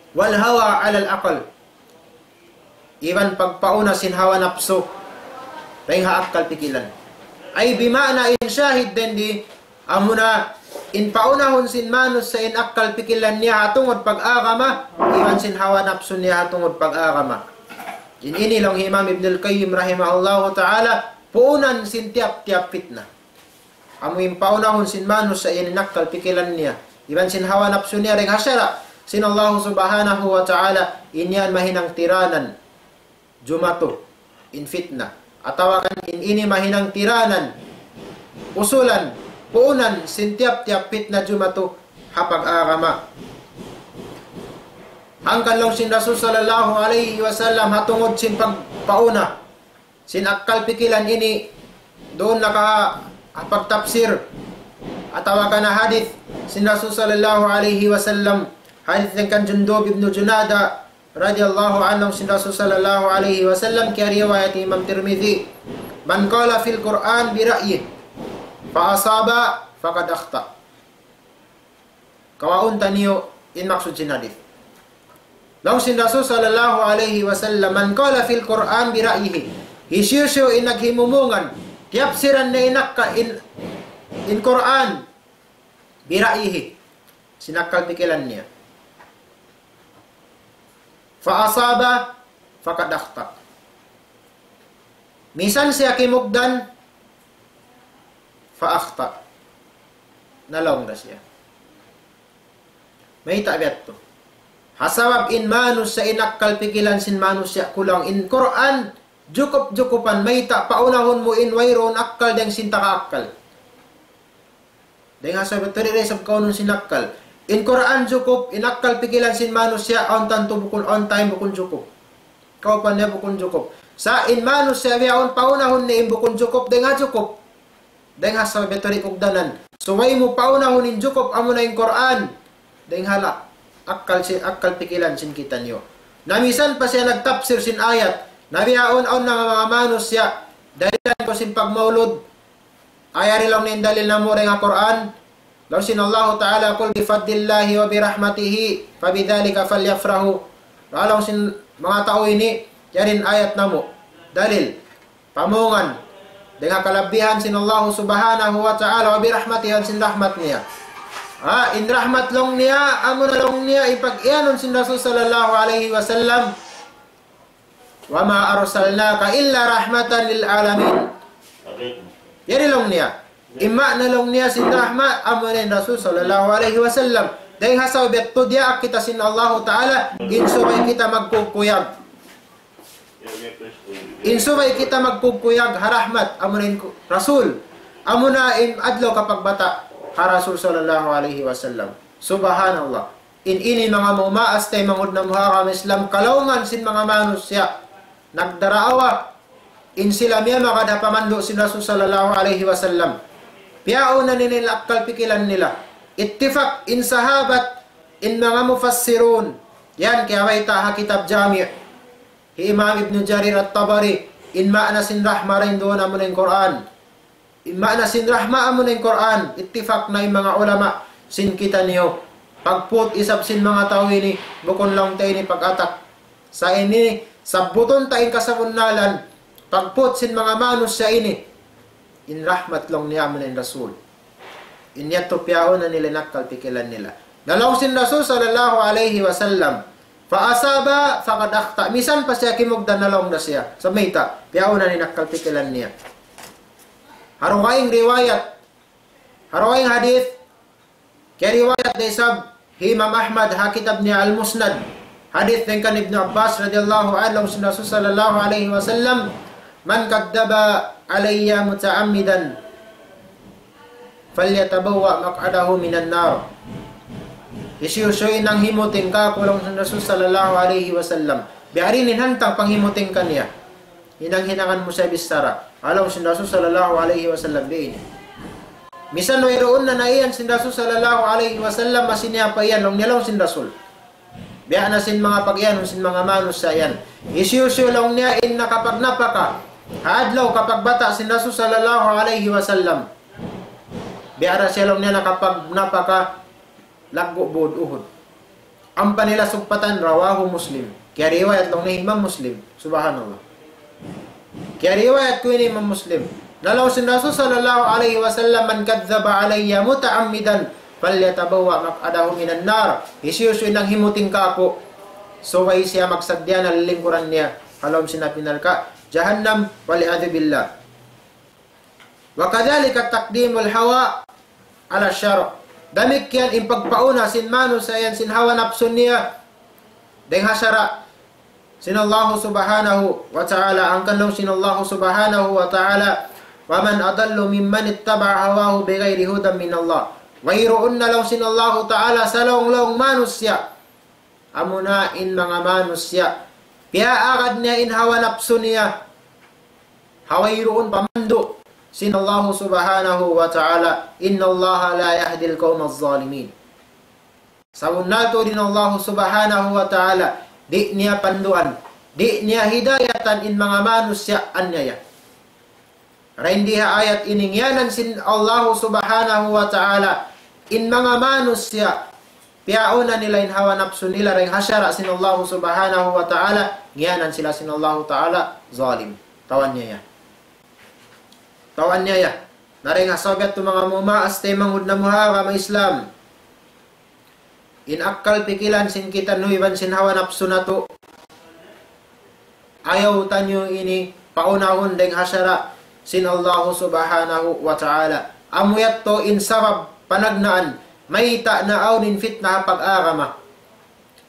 والهوى على العقل. Iban pagpauna sin hawa napsu dayn ha akkal pikilan. Ay bima'na in shahid dayn di, amuna in paunahun sin manusiya' in akkal pikilan niya ha tungud pag-agama, iban sin hawa napsu niya ha tungud pag-agama. In ini laung hi Imam Ibn al-Qayyim rahimahullahu ta'ala, puunan sin tiyap-tiyap fitna. Amu in paunahun sin manusiya' in akkal pikilan niya iban sin hawa napsu niya dayn ha sara' sin Allah Subhanahu wa Ta'ala, in yan mahinang tiranan jumatu in fitna. Atawa kan in ini mahinang tiranan, usulan, puunan sin tiyap-tiyap fitna jumatu ha pag-agama. Hangkan laung sin Rasul sallallahu alayhi wasallam ha tungud sin pagpauna sin akkal pikilan ini duun na ka ha pagtapsir atawa kan ha hadith sin Rasul sallallahu alayhi wasallam. Hadith dayn kan Jundub ibn Junada radiyallahu anhu, sin Rasul sallallahu alayhi wasallam, kiyariwayat Imam Tirmidhi, من قال في القرآن برأيه فأصاب فقد أخطأ. Kawaun taniyu in maksud sin hadith. Laung sin Rasul sallallahu alayhi wasallam, من قال في القرآن برأيه. Hisiyu-siyu in naghimumungan, tiyapsiran niya in akka-, in, in Qur'an, برأيه. Sin akkal pikilan niya. فأصاب فقد أخطأ. Misan siya kimugdan, فأخطأ. Nalaung da siya. Mayta' biya' tu? Ha sabab in manusiya' in akkal pikilan sin manusiya' kulang. In Qur'an, jukup-jukupan, mayta' paunahun mu in wayruun akkal dayn sin taga-akkal. Dayn ha sabab tadi da isab kaunun sin akkal. In Qur'an jukup, in akkal pikilan sin manusiya', awn tantu bukun, awn time bukun jukup. Kaupan niya bukun jukup. Sa' in manusiya' bihaun paunahun niya in bukun jukup, dayn ha jukup. Dayn ha sabab tadi kugdanan. Subay mu paunahun in jukup amuna in Qur'an. Dayn ha la-, akkal si-, akkal pikilan sin kitaniyu. Na misan pa siya nagtapsir sin ayat. Na bihaun awn na manga manusiya'. Dahilan ku sin pagmaulud. Ay, yari laung niya in dalil namu' dayn ha Qur'an. Laung sin Allahu Ta'ala, قل بفضل الله وبرحمته فبذلك فليفرحوا. Laung sin manga tau ini, yari in ayat namu'. Dalil. Pamungan. Dayn ha kalabihan sin Allah Subhanahu wa Ta'ala, وبرحمته, iban sin rahmat niya. Ha, in rahmat laung niya, amuna laung niya, in pag-iyanun sin Rasul sallallahu alayhi wasallam. وما أرسلناك إلا رحمة للعالمين. Yari laung niya. In maana laung niya sin rahmat, amuna in Rasul sallallahu alayhi wasallam. Dayn ha sabab yadtu diyaak kita sin Allahu Ta'ala, in subay kita magkukuyag. In subay kita magkukuyag ha rahmat, amuna in ku-, Rasul. Amuna in adlaw kapagbata' ha Rasul sallallahu alayhi wasallam. Subhanallah. In ini manga mumaas taymanghud namu' ha agama Islam, kalaungan sin manga manusiya' nagdaraawa, in sila miyamagad ha pamandu' sin Rasul sallallahu alayhi wasallam. Piyauna nila in akkal pikilan nila. Ittifak in sahabat, in manga mufassirun. Yan, kiyabayta' ha kitab Jami'. Hi Imam Ibn Jarir At-Tabari, in maana sin rahma dayn duun amuna in Qur'an. In maana sin rahma amuna in Qur'an, ittifak na in manga ulama sin kitaniyu. Pagput isab sin manga tau ini, bukun laung ta ini pag-atak. Sa' ini, sabbutun ta in kasabunnalan, pagput sin manga manusiya' ini. In rahmat laung niya amuna in Rasul. In yadtu piyauna nila in akkal pikilan nila. Na laung sin Rasul sallallahu alayhi wasallam, فأصاب فقد أخطأ. Misan pa siya kimugdan na laung da siya. Sa' mayta', piyauna in akkal pikilan niya. Ha dugaing riwayat, ha dugaing hadith, kiyariwayat da isab hi Imam Ahmad ha kitab niya Al-Musnad. Hadith dayn kan Ibnu Abbas radiyallahu anhu, laung sin Rasul sallallahu alayhi wasallam, من كذب علي متعمدا فليتبوأ مقعده من النار. Hisiyu-siyu in nanghimuting kāku', laung sin Rasul sallallahu alayhi wasallam. Biya' diin in hantang panghimuting kaniya. Hinang-hinangan mu siya bichara. Laung sin Rasul sallallahu alayhi wasallam biya' ini. Misan wayruun na naiyan sin Rasul sallallahu alayhi wasallam, masi niya pa iyan, laung niya, laung sin Rasul. Biya' na sin manga pag-iyanun sin manga manusiya' yan. Hisiyu-siyu, laung niya, in nakapagnapaka ha adlaw kapagbata' sin Rasul sallallahu alayhi wasallam. Biya' da siya, laung niya, nakapagnapaka laggu' būd Uhud. Ampa nila sugpatan, رواه مسلم. Kiyariwayat laung niya Imam Muslim. Subhanallah. Kiyariwayat ku ini Imam Muslim. Na laung sin Rasul sallallahu alayhi wasallam, من كذب علي متعمدا فليتبوأ مقعده من النار. Hisiyu-siyu in nanghimuting kāku', subay siya magsadiya na lilingkuran niya ha lawm sin api narka' jahannam, والعياذ بالله. وكذلك تقديم الهوى على الشرع. Damikkiyan in pagpauna sin manusiya' yan sin hawa napsu niya dayn ha sara' sin Allah subhanahu wa ta'ala. Hangkan laung sin Allah subhanahu wa ta'ala, ومن أضل ممن اتبع هواه بغير هدى من الله. Wayruun na, laung sin Allah ta'ala, salawng-lawng manusiya'. Amuna in manga manusiya', piyaagad niya in hawa napsu niya, ha wayruun pamandu' sin Allah subhanahu wa ta'ala. إن الله لا يهدي القوم الظالمين. Sabunnal tuud in Allah subhanahu wa ta'ala, di' niya panduan, di' niya hidayatan in manga manusiya' anyaya. Dayn di ha ayat ini, ngiyanan sin Allah subhanahu wa ta'ala in manga manusiya', piyauna nila in hawa napsu nila dayn ha sara' sin Allah subhanahu wa ta'ala, ngiyanan sila sin Allah ta'ala zalim. Tau anyaya. Tau anyaya. Na dayn ha sabab yadtu, manga mumaas taymanghud namu' ha agama Islam, in akkal pikilan sin kitaniyu iban sin hawa napsu natu', ayaw taniyu ini paunahun dayn ha sara' sin Allah subhanahu wa ta'ala. Amu yadtu in sabab panagnaan mayta' naawn in fitna ha pag-agama.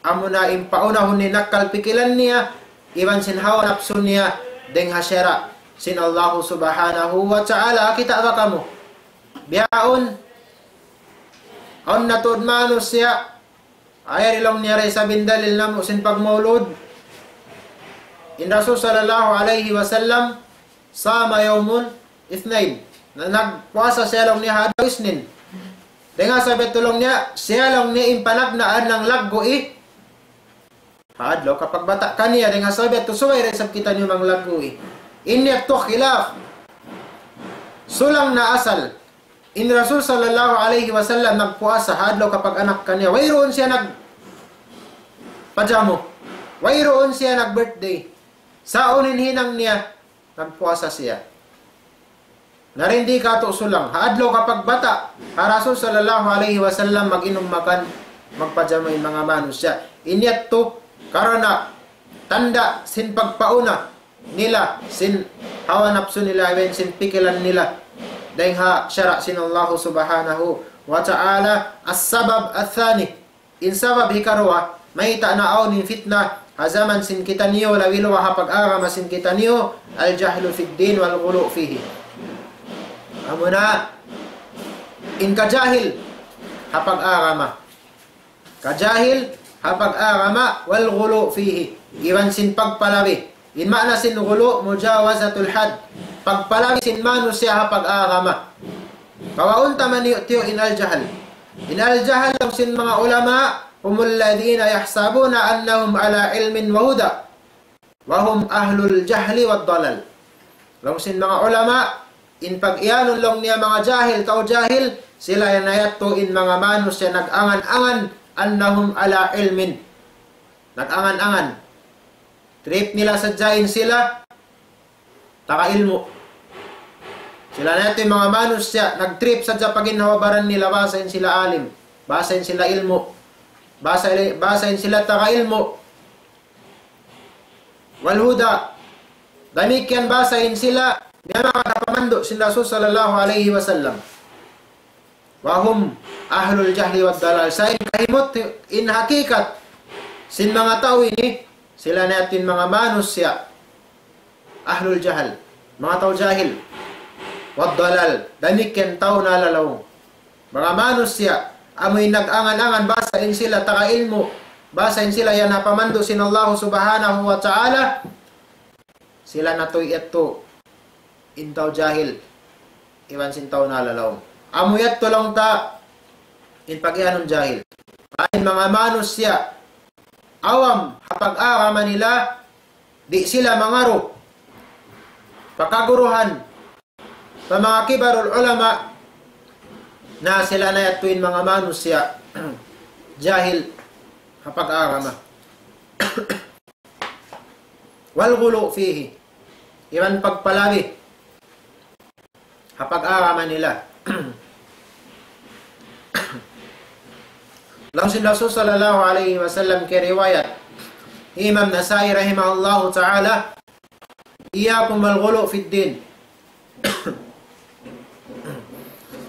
Amuna in paunahun in akkal pikilan niya iban sin hawa napsu niya dayn ha sara' sin Allah subhanahu wa ta'ala. Kita' ba kamu? Bihaun, awn na tuud manusiya', ayaw, laung niya, da isab in dalil namu' sin pagmaulud. In Rasul sallallahu alayhi wasallam, صام يوم الاثنين. Na, nagpuasa siya, laung niya, ha adlaw Isnin. Dayn ha sabab yadtu, laung niya, siya, laung niya, in panagnaan nanglaggu' ha adlaw kapagbata' kaniya. Dayn ha sabab yadtu, subay da isab kitaniyu manglaggu'. In yadtu khilaf. Sulang na asal. In Rasul sallallahu alayhi wasallam nagpuasa ha adlaw kapag-anak kaniya. Wayruun siya nagpajamu. Wayruun siya nag-birthday. Sa' unu in hinang niya, nagpuasa siya. Na dayn di katu' sulang. Ha adlaw kapagbata' ha Rasul sallallahu alayhi wasallam, mag-inum makan, magpajamu in manga manusiya'. In yadtu, karna' tanda' sin pagpauna nila sin hawa napsu nila, iban sin pikilan nila dayn ha sara' sin Allah subhanahu wa ta'ala. السبب الثاني, in sabab hikaruwa, mayta' naawn in fitna ha jaman sin kitaniyu, labi-labi ha pag-agama sin kitaniyu, الجهل في الدين والغلو فيه. Amuna in kajahil ha pag-agama. Kajahil ha pag-agama, والغلو فيه. Iban sin pagpalabi. In maana sin ghulu, مجاوزة الحد. Pagpalabi sin manusiya' ha pag-agama. Kawaun ta maniyu'-tiyu' in al-jahl. In al-jahl, laung sin manga ulama, هم الذين يحسبون أنهم على علم وهدى وهم أهل الجهل والضلال. Laung sin manga ulama, in pag-iyanun, laung niya, manga jahil, tau jahil, sila yan na yadtu in manga manusiya' nag-angan-angan, أنهم على علم. Nag-angan-angan. Trip nila sadja in sila taga ilmu'. Sila na yadtu in manga manusiya', nag-trip sadja pa ginhawa-baran nila, bahasa in sila alim, bahasa in sila ilmu', bahasa, bahasa in sila taga ilmu'. والهدى. Damikkiyan basa in sila, miyamagad ha pamandu' sin Rasul sallallahu alayhi wasallam. وهم أهل الجهل والضلال. Sa' in kahimut, in hakikat, sin manga tau ini, sila na yadtu in manga manusiya'. Ahlul jahal, manga tau jahil. والضلال, damikkiyan tau nalalaung. Manga manusiya', amu in nag-angan-angan basa in sila taga ilmu', basa in sila yan ha pamandu' sin Allah subhanahu wa ta'ala, sila na tuud yadtu in tau jahil, iban sin tau nalalaung. Amu yadtu laung ta, in pagiyanun jahil. In manga manusiya', awam, ha pag-agama nila, di' sila mangaru pa kaguruhan, pa manga kibarul ulama, na sila na yadtu in manga manusiya', jahil, ha pag-agama. والغلو فيه. Iban pagpalabi ha pag-agama nila. Laung sin Rasul sallallahu alayhi wasallam kiyariwayat Imam Nasa'i rahimahullahu ta'ala, إياكم والغلو في الدين.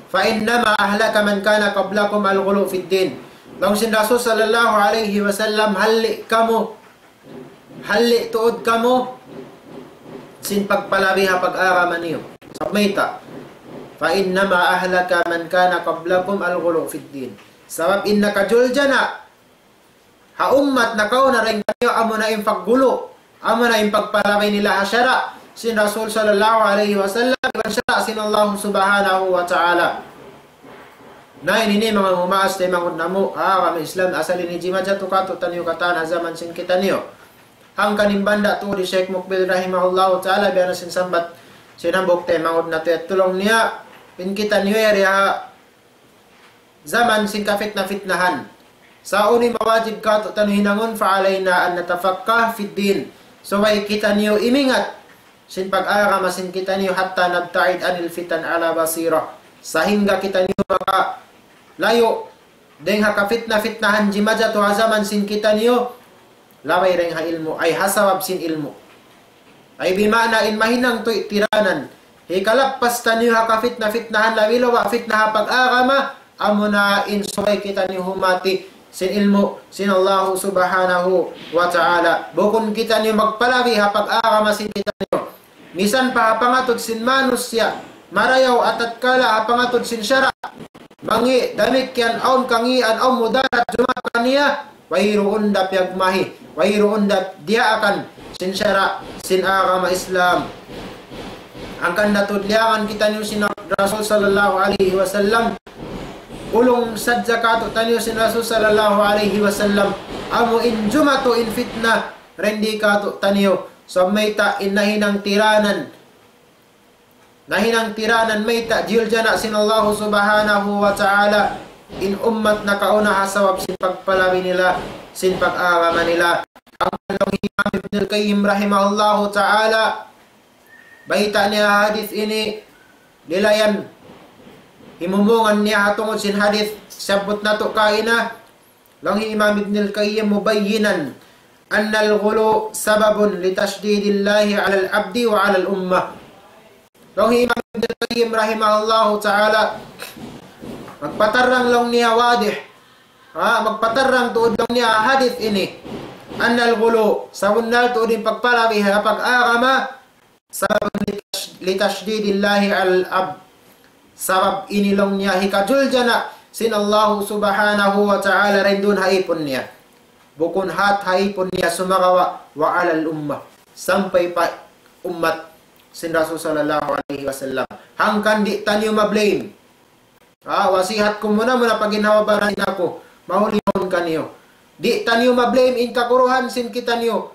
فإنما أهلك من كان قبلكم الغلو في الدين. Laung sin Rasul sallallahu alayhi wasallam, halli' kamu, halli' tuud kamu sin pagpalabi ha pag-agama niyu. Sabab mayta', فإنما أهلك من كان قبلكم الغلو في الدين. Sabab in nakajuljana ha ummat nakauna dayn kaniyu, amuna in paggulu, amuna in pagpalabi nila ha sara' sin Rasul sallallahu alayhi wasallam, iban sara' sin Allah subhanahu wa ta'ala. Na ini, ini manga mumaas taymanghud namu' ha agama Islam, asal ini jimatu katu'taniyu katan ha jaman sin kitaniyu. Hangkan in banda' tuud hi Sheikh Mukbil rahimahullahu ta'ala, biya' na sin sambat sin hambuuk taymanghud natu' yadtu, laung niya, in kitaniyu yari ha jaman sin kafitna-fitnahan. Sa' unu in mawajib katu'taniyu hinangun, فعلينا أن نتفقه في الدين. Subay kitaniyu imingat sin pag-agama sin kitaniyu, حتى نبتعد عن الفتن على بصيرة. Sahingga kitaniyu makalayu' dayn ha kafitna-fitnahan jimatu ha jaman sin kitaniyu, labay dayn ha ilmu', ay ha sabab sin ilmu'. Ay bima'na in mahinang tuud tiranan, hikalappas taniyu ha kafitna-fitnahan, labi-labi fitna ha pag-agama, amuna in subay kitaniyu humati sin ilmu' sin Allah subhanahu wa ta'ala. Bukun kitaniyu magpalabi ha pag-agama sin kitaniyu. Misan pa ha pangatud sin manusiya', marayaw atatkala ha pangatud sin sara', mangi' damikkiyan awn kangīan, awn mudarat jumatu kaniya, wayruun da piyagmahi, wayruun da diyaakan sin sara' sin agama Islam. Hangkan da tuud liyangan kitaniyu sin Rasul sallallahu alayhi wasallam. Ulung sadja katu'taniyu sin Rasul sallallahu alayhi wasallam. Amu in jumatu in fitna, dayn di katu'taniyu. Sa' mayta' in nahinang tiranan, nahinang tiranan mayta' diyuljana sin Allah subhanahu wa ta'ala in ummat nakauna ha sabab sin pagpalabi nila sin pag-agama nila. Hangkan laung hi Imam Ibn al-Qayyim rahimahullahu ta'ala, bayta' niya hadith ini, lilayan, himumungan niya ha tungud sin hadith siyabbut natu' kaina. Laung hi Imam Ibn al-Qayyim, مبينا أن الغلو سبب لتشديد الله على العبد وعلى الأمة. Laung hi Imam Ibn al-Qayyim rahimahullahu ta'ala, magpatarrang laung niya wadih. Ha, magpatarrang tuud laung niya hadith ini. أن الغلو, sabunnal tuud in pagpalabi ha pag-agama, سبب لتش-، لتشديد الله على العبد. Sabab ini laung niya hikajuljana sin Allah subhanahu wa ta'ala dayn duun ha ipun niya. Bukun hat ha ipun niya sumagawa' وعلى الأمة. Sampay pa ummat sin Rasul sallallahu alayhi wasallam. Hangkan di' taniyu ma-blame. Ah, wasihat ku muna-muna pa ginhawa-baran sin aku, mahuli mawn kaniyu. Di' taniyu ma-blame in kaguruhan sin kitaniyu.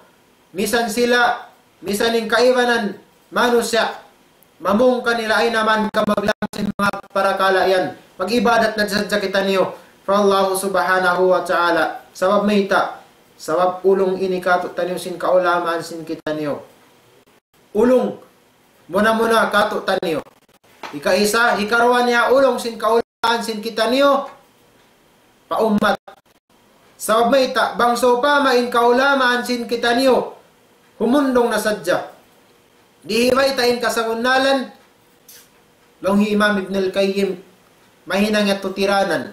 Misan sila, misan in kaibanan manusiya', mamung kanila ay naman ka maglang sin manga parakala' yan. Mag-ibadat na sadja kitaniyu pa Allah subhanahu wa ta'ala. Sabab mayta', sabab ulung ini katu'taniyu sin kaulamaan sin kitaniyu. Ulung muna-muna katu'taniyu. Hikaisa, hikaruwa niya ulung sin kaulamaan sin kitaniyu pa ummat. Sabab mayta', bang sawpama in kaulamaan sin kitaniyu humundung na sadja. Di' hibayta' in kasabunnalan, laung hi Imam Ibn al-Qayyim, mahinang yadtu tiranan.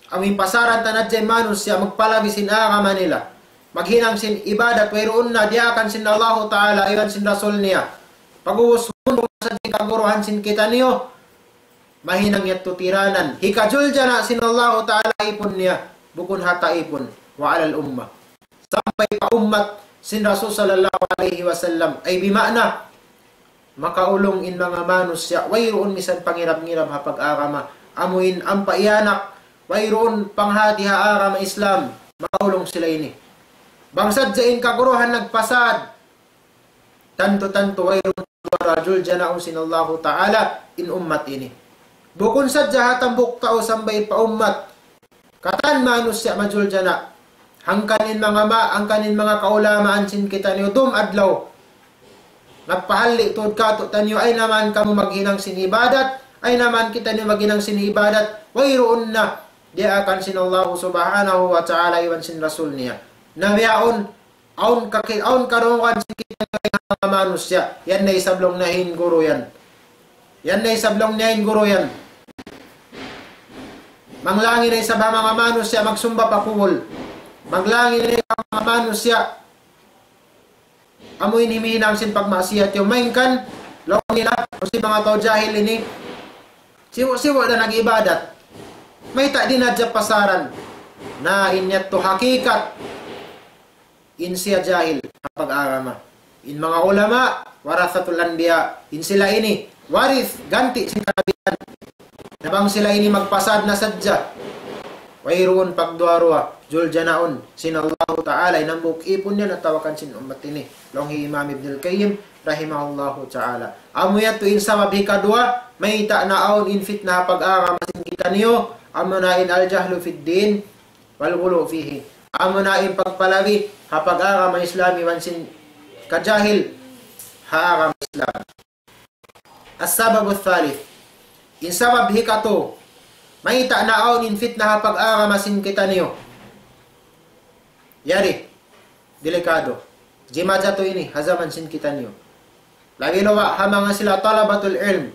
Amu in pasaran ta na sadja in manusiya' magpalabi sin agama nila. Maghinang sin ibadat, wayruun na diyaakan sin Allahu Ta'ala, iban sin Rasul niya. Pag'ubus, humundung na sadja in kaguruhan sin kitaniyu, mahinang yadtu tiranan. Hikajuljana' sin Allahu Ta'ala ipun niya, bukun ha ta ipun, وعلى الأمة. Sampay pa ummat sin Rasul sallallahu alayhi wasallam. Ay bima'na, makaulung in manga manusiya', wayruun misan pangirab-ngirab ha pag-agama. Amu in ampa iyanak, wayruun panghati ha agama Islam, makaulung sila ini. Bang sadja in kaguruhan nagpasad, tantu-tantu wayruun juljanaun sin Allahu Ta'ala in ummat ini. Bukun sadja ha hambuuk tau sampay pa ummat. Katan manusiya' majuljana'. Hangkan in manga ma-, hangkan in manga kaulamaan sin kitaniyu dum adlaw. Nagpahalli' tuud kātu'niyu, ayaw na man kamu maghinang sin ibadat, ayaw na man kitaniyu maghinang sin ibadat, wayruun na diyaakan sin Allahu Subhanahu wa Ta'ala iban sin Rasul niya. Na bihaun, awn kaki-, awn karungugan sin kitaniyu manga manusiya'. Yan na isab laung niya in guru yan. Yan na isab laung niya in guru yan. Manglangi na isab ha manga manusiya' magsumba pa kubul. Manglangi na isab ha manga manusiya' amu in himihinang sin pagmaksiyat yaun. Malayngkan, laung nila, awn sin manga tau jahil ini, sibu'-sibu' da nag-ibadat. Mayta' di' na sadja pasaran. Na in yadtu hakikat. In siya jahil ha pag-agama. In manga ulama, warathatul anbiya, in sila ini, warith, ganti' sin kanabihan. Na bang sila ini magpasad na sadja, wayruun pagduwa-ruwa, juljanaun sin Allahu Ta'ala, in hambuuk ipun niya atawa kan sin ummat ini. Laung hi Imam Ibn al-Qayyim, rahimahullahu ta'ala. Amu yadtu in sabab hikaduwa, mayta' na awn in fitna ha pag-agama sin kitaniyu, amu na in al-jahlu fid din, والغلو فيه. Amu na in pagpalabi ha pag-agama Islam iban sin kajahil ha agama Islam. السبب الثالث. In sabab hikatu, mayta' na awn in fitna ha pag-agama sin kitaniyu. Yari, delikado. Jimajatu ini, ha jaman sin kitaniyu. Labi-labi ha manga sila talabatul ilm.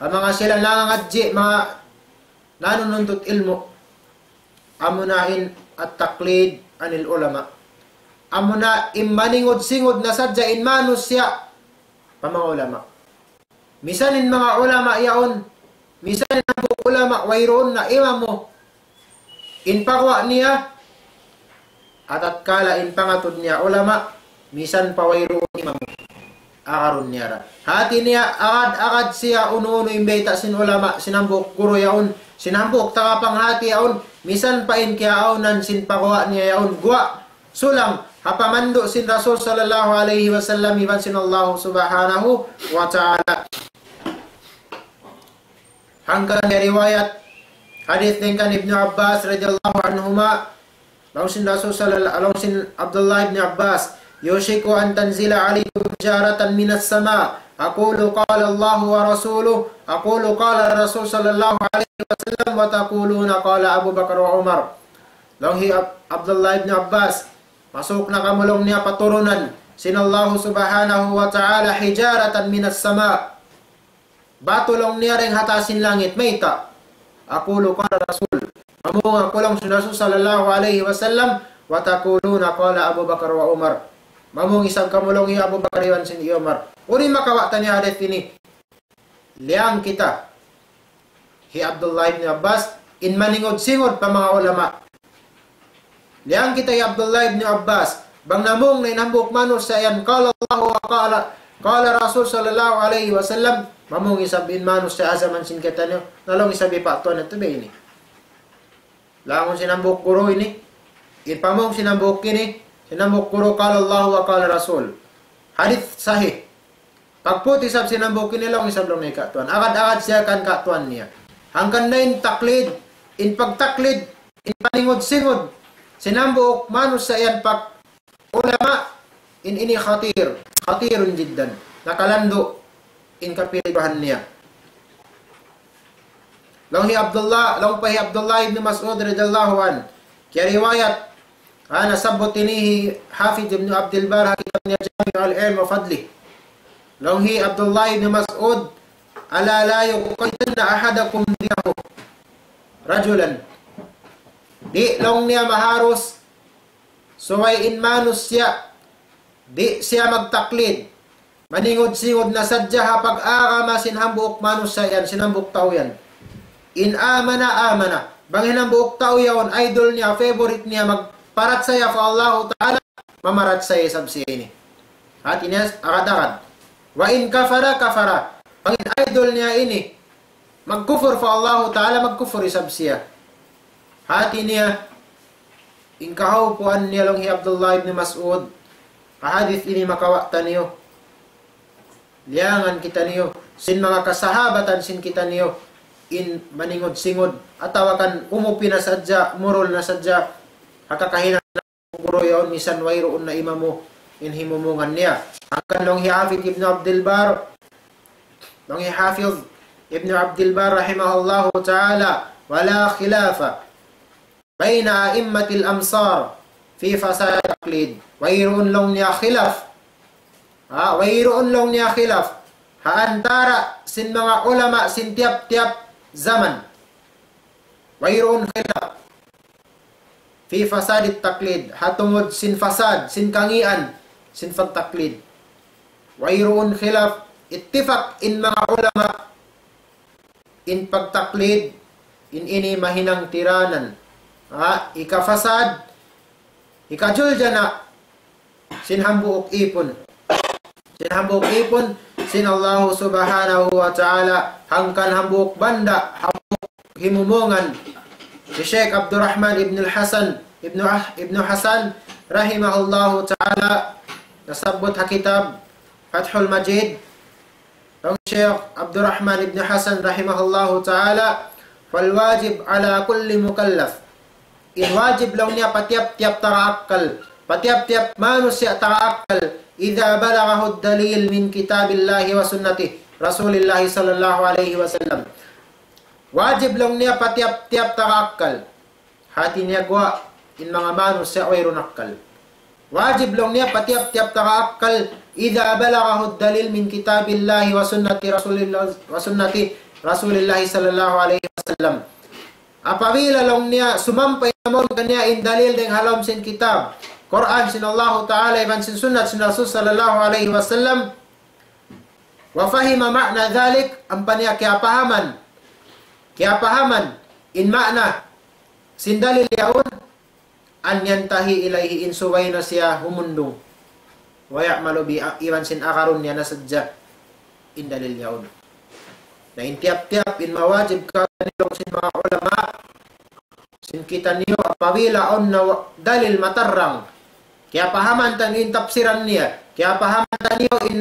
Ha manga sila nangangadji', manga nanununtut ilmu'. Amu na in at-taqlid anil ulama. Amu na in maningud-singud na sadja in manusiya' pa manga ulama. Misan in manga ulama yaun, misan in hambuuk ulama wayruun na imam mu. In pagguwa' niya, atatkala in pangatud niya ulama, misan pa wayruun imam mu. Agarun niya ra. Hati niya, agad-agad siya unu-unu in bayta' sin ulama, sin hambuuk guru yaun, sin hambuuk tagapanghati yaun, misan pa in kiyaawnan sin pagguwa' niya yaun, guwa', sulang, ha pamandu' sin Rasul sallallahu alayhi wasallam, iban sin Allah subhanahu wa ta'ala. Hangkan riwayat, hadith dayn kan Ibnu Abbas radiyallahu anhuma, laung sin Rasul sallallahu, laung sin Abdullah ibn Abbas, يوشك أن تنزل عليكم حجارة من السماء، أقول قال الله ورسوله، أقول قال الرسول صلى الله عليه وسلم، وتقولون قال أبو بكر وعمر. Laung hi Ab-, Abdullah ibn Abbas, masuuk na kamu laung niya paturunan sin Allah subhanahu wa ta'ala حجارة من السماء. Batu laung niya dayn ha taas sin langit, mayta'? أقول قال الرسول. Mamung aku laung sin Rasul sallallahu alayhi wasallam, وتقولون قال أبو بكر وعمر. Mamung isab kamu laung hi Abu Bakar iban sin hi Umar. Unu in makawa' ta niya hadith ini? Liyang kita hi Abdullah ibn Abbas, in maningud-singud pa manga ulama. Liyang kita hi Abdullah ibn Abbas, bang namung na in hambuuk manusiya' yan, قال الله وقال، قال الرسول صلى الله عليه وسلم, mamung isab in manusiya' ha jaman sin kitaniyu, na laung isab hi pa tuwan natu' ba ini. Laung sin hambuuk guru ini, in pamung sin hambuuk ini, sin hambuuk guru, قال الله وقال الرسول. Hadith sahih. Pagput isab sin hambuuk ini laung isab laung niya katuan. Agad-agad siya kan katuan niya. Hangkan na in taklid, in pagtaklid, in paningud-singud sin hambuuk manusiya' yan pa ulama, in ini khatir, khatirun jiddan. Nakalandu' in kapilihan niya. Laung hi Abdullah, laung pa hi Abdullah ibn Mas'ud radiyallahu anhu. Kiyariwayat, Ha, nasabbut ini hi Hafidh Ibn Abdul Barr ha kitab niya Jami'ul Ilm wa Fadlih. Laung hi Abdullah ibn Mas'ud, ألا لا يقيدن أحدكم دينه رجلا. Di' laung niya maharus, subay in manusiya', di' siya magtaklid. Maningud-singud na sadja ha pag-agama sin hambuuk manusiya' yan, sin hambuuk tau yan. إن آمن آمن. Bang in hambuuk tau yaun, idol niya, favorite niya, magparachaya pa Allahu Ta'ala, mamarachaya isab siya ini. Hati niya, agad-agad. وإن كفر كفر. Bang in idol niya ini, magkufur pa Allahu Ta'ala, magkufur isab siya. Hati niya, in kahawpuan niya laung hi Abdullah ibn Mas'ud, ha hadith ini makawa' taniyu, liyangan kitaniyu, sin manga kasahabatan sin kitaniyu, in maningud-singud, atawa kan umupi na sadja, murul na sadja, ha kakahinang guru yaun misan wayruun na imamu in himumungan niya. Hangkan laung hi Hafidh Ibn Abdul Barr, laung hi Hafidh Ibn Abdul Barr rahimahullahu ta'ala, ولا خلاف بين أئمة الأمصار في فساد التقليد. Wayruun laung niya khilaf. Ha, wayruun laung niya khilaf. Ha antara sin manga ulama sin tiyap-tiyap zaman. Wayruun khilaf. في فساد التقليد. Ha tungud sin fasad, sin kangīan, sin pagtaklid. Wayruun khilaf, ittifaq in manga ulama, in pagtaklid, in ini mahinang tiranan. Ha, hikafasad, hikajuljana, sin hambuuk īpun. Sin hambuuk īpun, sin Allahu Subhanahu wa Ta'ala, hangkan hambuuk banda, hambuuk himumungan. Hi Sheikh Abdurrahman ibn al-Hasan, ibn Ah-, ibn Hasan, rahimahullahu ta'ala, nasabbut ha kitab Fathul Majid, laung Sheikh Abdurrahman ibn Hasan rahimahullahu ta'ala, فالواجب على كل مكلف. In wajib laung niya pa tiyap-tiyap taga akkal, pa tiyap-tiyap manusiya' taga akkal, إذا بلغه الدليل من كتاب الله وسنة رسول الله صلى الله عليه وسلم. Wajib laung niya pa tiyap-tiyap taga akkal. Hati niya guwa' in manga manusiya' wayruun akkal. Wajib laung niya pa tiyap-tiyap taga akkal, إذا بلغه الدليل من كتاب الله وسنة رسول الله، وسنة رسول الله صلى الله عليه وسلم. Apabila laung niya sumampay na mawn kaniya in dalil dayn ha lawm sin kitab, Qur'an sin Allahu Ta'ala, iban sin sunnat sin Rasul sallallahu alayhi wasallam, وفهم معنى ذلك, ampa niya kiyapahaman, kiyapahaman in ma'na sin dalil yaun, أن ينتهي إليه, in subay na siya humundung, ويعمل به, iban sin agarun niya na sadja in dalil yaun. Na in tiyap-tiyap in mawajib kaniyu sin manga ulama, sin kitaniyu apabila awn na wa-, dalil matarrang, kiyapahaman taniyu in tafsiran niya, kiyapahaman taniyu in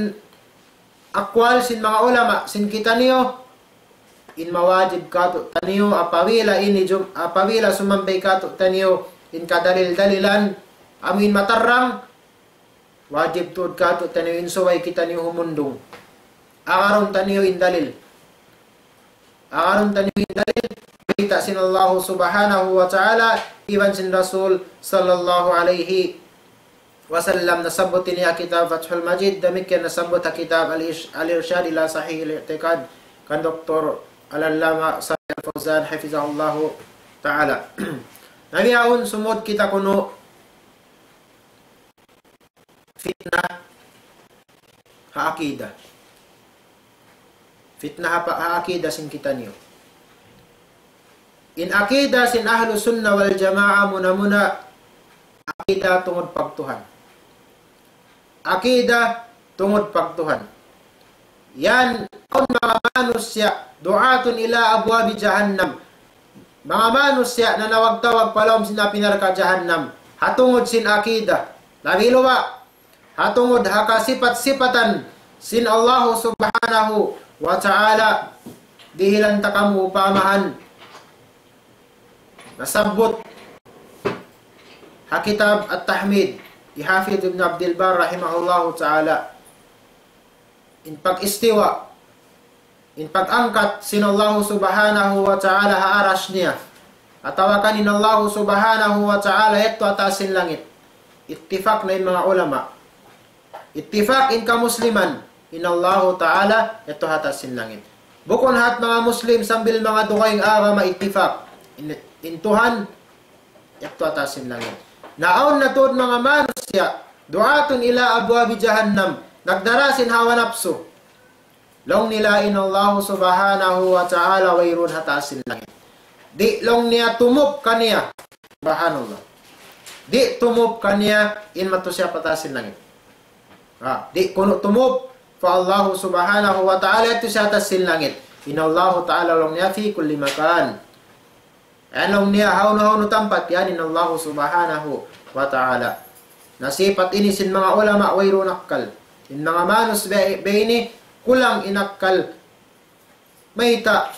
aqwal sin manga ulama, sin kitaniyu, in mawajib kātu'niyu apabila ini jum-, apabila sumampay kātu'niyu in kadalil-dalilan, amu in matarrang, wajib tuud kātu'niyu in subay kitaniyu humundung. Agarun taniyu in dalil. Agarun taniyu in dalil, bayta' sin Allahu Subhanahu wa Ta'ala, iban sin Rasul sallallahu alayhi wasallam. Nasabbut ini ha kitab Fathul Majid, damikkiyan nasabbut ha kitab Al-Ish-, Al-Irshad ila Sahih Al-I'tiqad, kan Doktor Al-Allama Salih Al-Fawzan, hafizahullahu ta'ala. Na bihaun sumud kita kunu' fitna ha akida. Fitna ha pa-, ha akida sin kitaniyu. In akida sin Ahlu Sunna wal Jamaa muna-muna akida tungud pagtuhan. Akida tungud pagtuhan. Yan, awn manga manusiya', دعاة إلى أبواب جهنم. Manga manusiya' nanawag-tawag pa lawm sin api narka' jahannam. Ha tungud sin akida. Labi luba', ha tungud ha kasipat-sipatan sin Allahu Subhanahu wa Ta'ala, dihilan ta kamu upamahan. Nasabbut ha kitab At-Tahmid, hi Hafidh Ibn Abdul Barr rahimahullahu ta'ala. In pag-istiwa, in pag-angkat sin Allahu Subhanahu wa Ta'ala ha arash niya. atawa kan in Allahu Subhanahu wa Ta'ala yadtu ha taas sin langit. Ittifak na in manga ulama. Ittifak in kamusliman, in Allahu Ta'ala yadtu ha taas sin langit. Bukun hat manga Muslim sambil manga dugaing agama ittifak. In, in Tuhan yadtu ha taas sin langit. Na awn na tuud manga manusiya', du'atun ila abwabi jahannam, nagdara sin hawa napsu. Laung nila in Allahu Subhanahu wa Ta'ala wayruun ha taas sin langit. Di' laung niya tumub kaniya. Subhanallah. Di' tumub kaniya in matusiya' pa taas sin langit. Ha, di' kunu' tumub pa Allahu Subhanahu wa Ta'ala yadtu ha taas sin langit. In Allahu Ta'ala laung niya fi kulli makan. Ayan laung niya, hawnu-hawnu tampat yan in Allahu Subhanahu wa Ta'ala. Na sipat ini sin manga ulama wayruun akkal. In manga manus be, be ini kulang in akkal. Mayta',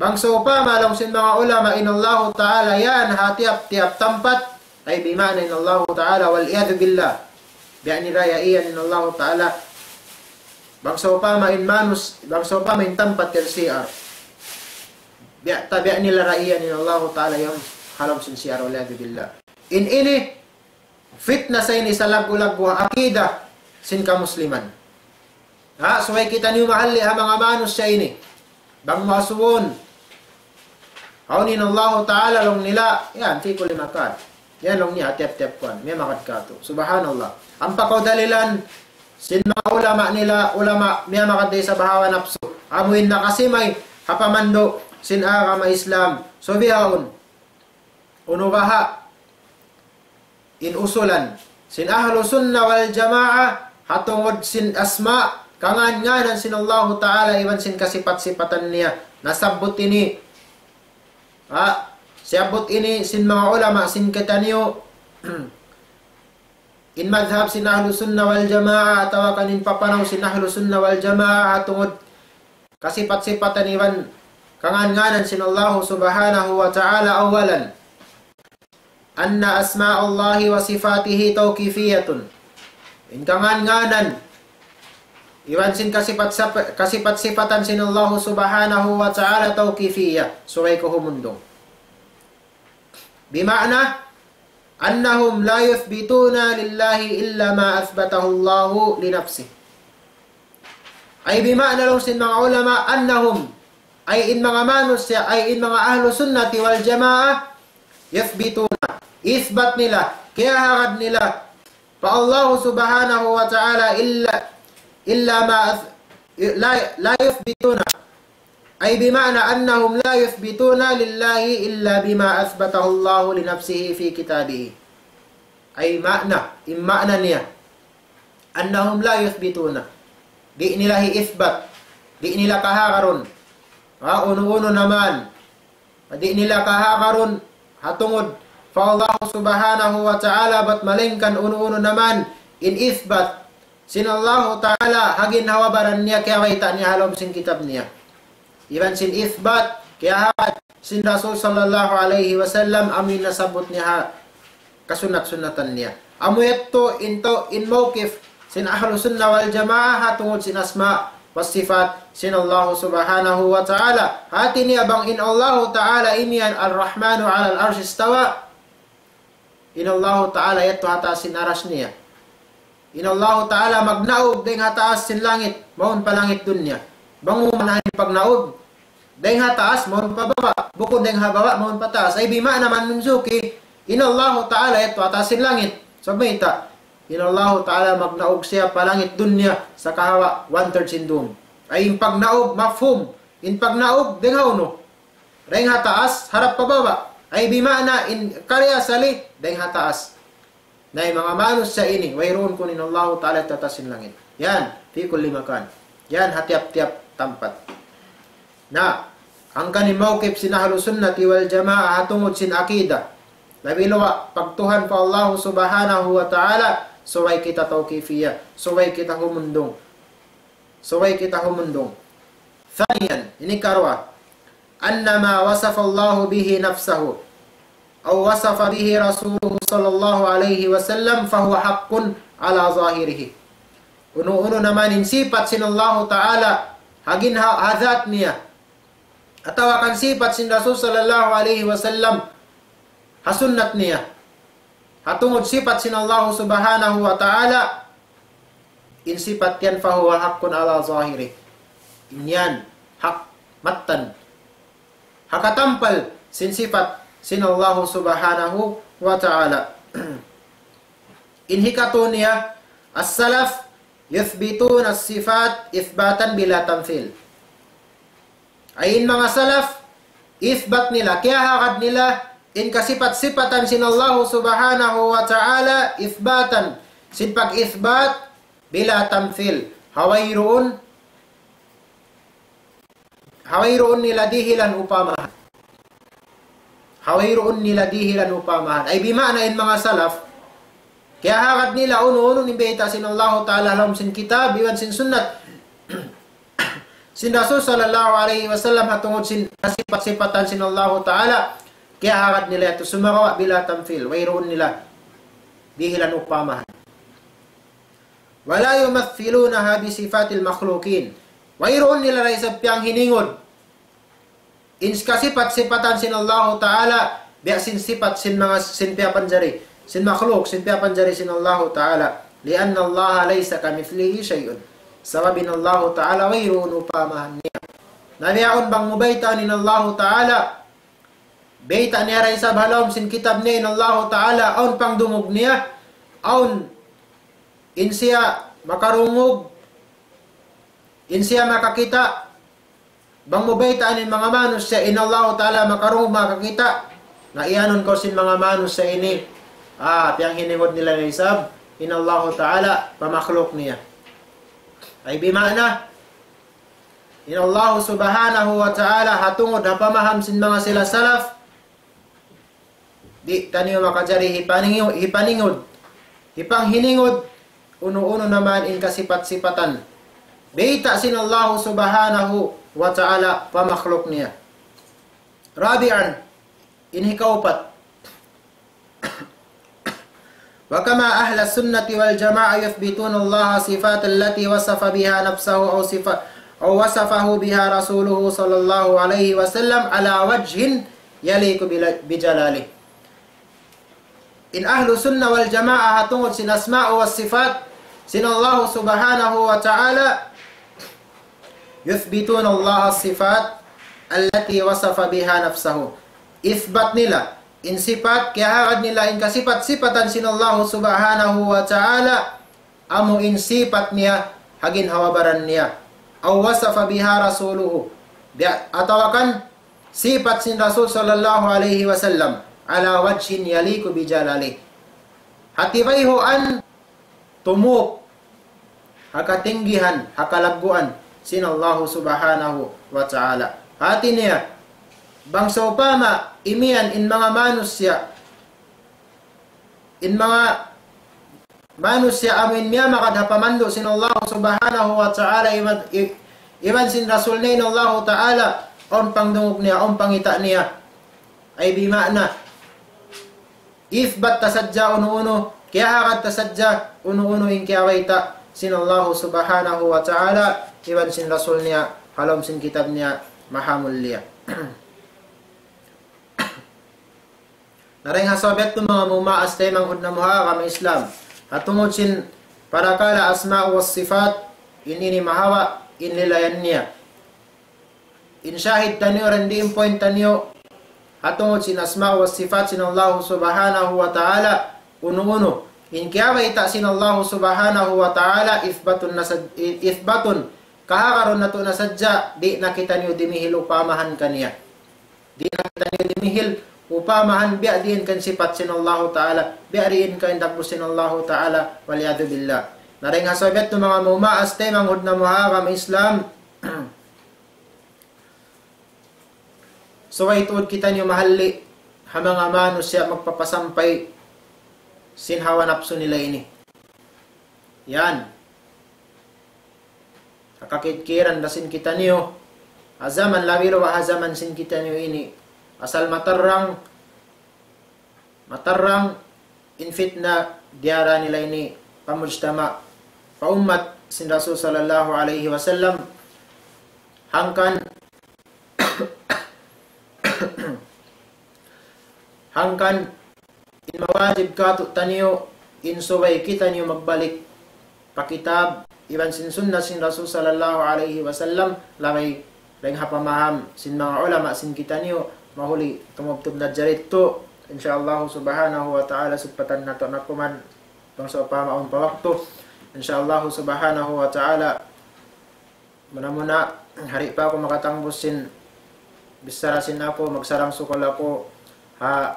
bang sawpama laung sin manga ulama in Allahu Ta'ala yan ha tiyap-tiyap tampat, ay bima'na in Allahu Ta'ala, wal iyadhu billah. Biya' nila iyan in Allahu Ta'ala. Bang sawpama in manus, bang sawpama in tampat yan C R. Biya', tabiya' nila ra iyan in Allahu Ta'ala yan ha lawm sin C R, wal iyadhu billah. In ini, fitna sa ini salaggu'-laggu' ha akida sin kamusliman. Ha, subay kitaniyu mahalli' ha manga manusiya' ini. Bang mu asubuhun, hawnu in Allahu Ta'ala laung nila, yan, fi kulli makan. Yan laung niya, tiyap-tiyap kuwan, miyamagad katu'. Subhanallah. Ampa kaw dalilan, sin manga ulama nila, ulama, miyamagad da isab ha hawa napsu. Amu in nakasimay, ha pamandu', sin agama Islam. So bihaun, unu baha' in usulan sin Ahlu Sunnah wal Jamaah ha tungud sin asma', kangān-ngānan sin Allahu Ta'ala iban sin kasipat-sipatan niya. Nasabbut ini, ha, siyabbut ini sin manga ulama sin kitaniyu, in madhab sin Ahlu Sunnah wal Jamaah, atawa kan in papanaw sin Ahlu Sunnah wal Jamaah ha tungud kasipat-sipatan iban kangān-ngānan sin Allahu Subhanahu wa Ta'ala. Awalan, أن أسماء الله وصفاته توقيفية. In kangān-ngānan iban sin kasipat-sap-, kasipat-sipatan sin Allahu Subhanahu wa Ta'ala tawqifiyya, subay kaw humundung. Bima'na, أنهم لا يثبتون لله إلا ما أثبته الله لنفسه. Ay bima'na laung sin manga ulama, أنهم, ay in manga manusiya', ay in manga Ahlu Sunnati wal Jamaah, يثبتون, isbat nila, kiyahagad nila pa Allahu Subhanahu wa Ta'ala إلا, إلا ما أث-, لا, لا يثبتون. أي بمعنى أنهم لا يثبتون لله إلا بما أثبته الله لنفسه في كتابه. Ay ma'na, in ma'na niya, أنهم لا يثبتون. Di' nila hi-isbat, di' nila kahagarun. Ha, unu-unu na man. Di' nila kahagarun ha tungud pa Allah Subhanahu wa Ta'ala, bat malaingkan unu-unu na man in isbat sin Allahu Ta'ala ha ginhawa-baran niya, kiyabayta' niya ha lawm sin kitab niya. Iban sin isbat, kiyahagad sin Rasul sallallahu alayhi wasallam, amu in nasabbut niya ha kasunnat-sunnatan niya. Amu yadtu in tau-, in mawqif sin Ahlu Sunnah wal Jamaah ha tungud sin asma wa sifat sin Allahu Subhanahu wa Ta'ala. Hati niya bang in Allahu Ta'ala imiyan الرحمن على العرش استوى. In Allahu Ta'ala yadtu ha taas sin aras niya. In Allahu Ta'ala magnaug dayn ha taas sin langit, mawn pa langit dunya. Bang mu manahan in pagnaug, dayn ha taas, mawn pa baba'. Bukun dayn ha baba', mawn pa taas. Ay bima'na manunjuki, in Allahu Ta'ala yadtu ha taas sin langit. Sabab mayta', in Allahu Ta'ala magnaug siya pa langit dunya, sa kahawa one-third sin dum. Ay in pagnaug, mafhum. In pagnaug, dayn ha unu? Dayn ha taas, harap pa baba'. Ay bima'na in kariya sali, dayn ha taas. Na in manga manusiya' ini, wayruun kunu' in Allahu Ta'ala ha taas sin langit. Yan, في كل مكان. Yan, ha tiyap-tiyap tampat. Na, hangkan in mawqif sin Ahlu Sunnati wal Jamaah ha tungud sin akida. Labi luwa', pagtuhan pa Allahu Subhanahu wa Ta'ala, subay kita tawqifiyya, subay kita humundung. Subay kita humundung. ثانيا, ini karuwa. أن ما وصف الله به نفسه أو وصف به رسوله صلى الله عليه وسلم فهو حق على ظاهره. Unu-unu na man in sipat sin Allahu Ta'ala, ha ginha-, ha dhat niya. atawa kan sipat sin Rasul sallallahu alayhi wasallam, ha sunnat niya. Ha tungud sipat sin Allah subhanahu wa ta'ala, in sipat yan فهو حق على ظاهره. In yan, hak, mattan. Ha katampal sin sipat sin Allah subhanahu wa ta'ala. In hikatu niya, السلف يثبتون الصفات إثباتا بلا تمثيل. Ay in manga salaf, isbat nila, kiyahagad nila, in kasipat-sipatan sin Allah subhanahu wa ta'ala, isbatan, sin pag-isbat, bila tamthil. Ha wayruun, ha wayruun nila dihilan upamahan. Ha wayruun nila dihilan upamahan. Ay bima'na in manga salaf, kiyahagad nila unu-unu in bayta' sin Allahu Ta'ala ha lawm sin kitab, iban sin sunnat sin Rasul sallallahu alayhi wasallam ha tungud sin kasipat-sipatan sin Allahu Ta'ala, kiyahagad nila yadtu sumagawa' bila tamthil, wayruun nila dihilan upamahan. ولا يمثلونها بصفات المخلوقين. Wayruun nila da isab piyanghiningud in kasipat-sipatan sin Allahu Ta'ala, biya' sin sipat sin manga, sin piyapanjari, sin makhluk, sin piyapanjari sin Allahu Ta'ala. لأن الله ليس كمثله شيء. Sabab in Allahu Ta'ala wayruun upamahan niya. Na bihaun bang mu baytaan in Allahu Ta'ala, bayta' niya da isab ha lawm sin kitab niya in Allahu Ta'ala, awn pangdungug niya, awn in siya makarungug, in siya makakita', bang mu baytaan in manga manusiya' in Allahu Ta'ala makarungug, makakita', na iyanun kaw sin manga manusiya' ini, ah, piyanghiningud nila da isab in Allahu Ta'ala pa makhluk niya. Ay bima'na, in Allah subhanahu wa ta'ala, ha tungud ha pamaham sin manga sila salaf, di' taniyu makajari hipaningu-, hipaningud, hipanghiningud, unu-unu na man in kasipat-sipatan bayta' sin Allah subhanahu wa ta'ala pa makhluk niya. رابعا, in hikaupat. وكما أهل السنة والجماعة يثبتون الله صفات التي وصف بها نفسه أو صفة، أو وصفه بها رسوله صلى الله عليه وسلم على وجه يليق بل-، بجلاله. In ahlu sunnah wal jamaah ha tungud sin asma' wa sifat sin Allah subhanahu wa ta'ala, يثبتون الله الصفات التي وصف بها نفسه. Isbat nila in sipat, kiyahagad nila in kasipat-sipatan sin Allah subhanahu wa ta'ala, amu in sipat niya ha ginhawa-baran niya. أو وصف بها رسوله. Biya', atawa kan sipat sin Rasul sallallahu alayhi wasallam, على وجه يليق بجلاله. Ha tibayhuan tumuk ha katinggihan, ha kalagguan sin Allahu subhanahu wa ta'ala. Hati niya, bang sawpama imiyan in manga manusiya', in manga manusiya' amu in miyamagad ha pamandu' sin Allahu subhanahu wa ta'ala, iban, i-, iban sin Rasul niya in Allahu ta'ala, awn pangdungug niya, awn pangita' niya. Ay bima'na, isbat ta sadja unu-unu, kiyahagad ta sadja unu-unu in kiyabayta' sin Allahu subhanahu wa ta'ala, iban sin Rasul niya, ha lawm sin kitab niya, maha mulia. Na dayn ha sabab yadtu manga mumaas taymanghud namu' ha agama Islam, ha tungud sin parakala asma' wa sifat, in ini mahaba' in lilayan niya. In shahid taniyu, randiin point taniyu, ha tungud sin asma' wa sifat sin Allahu subhanahu wa ta'ala, unu-unu in kiyabayta' sin Allahu subhanahu wa ta'ala, isbatun na sad-, i-, isbatun, kahagarun natu' na sadja, di' na kitaniyu dimihil upamahan kaniya. Di' na kitaniyu dimihil upamahan biya' diin kan sipat sin Allahu ta'ala, biya' diin kan dagbus sin Allahu ta'ala, wal iyadhu billah. Na dayn ha sabab yadtu manga mumaas taymanghud namu' ha agama Islam, subay tuud kitaniyu mahalli' ha manga manusiya' magpapasampay sin hawa napsu nila ini. Yan. Ha kakitkiran da sin kitaniyu, ha jaman labi luba' ha jaman sin kitaniyu ini, asal matarrang, matarrang in fitna diyara nila ini pa mujtama', pa ummat sin Rasul sallallahu alayhi wasallam, hangkan Hangkan in mawajib kātu'niyu, in subay kitaniyu magbalik pa kitab iban sin sunnah sin Rasul sallallahu alayhi wasallam, labay dayn ha pamaham sin manga ulama sin kitaniyu, mahuli tumubtub na jari tu. Insya Allah subhanahu wa ta'ala, sugpatan natu' na kuman bang sawpama awn pa waktu. Insya Allah subhanahu wa ta'ala, muna-muna, di' pa aku makatangbus sin bichara sin aku, magsarang-sukul aku ha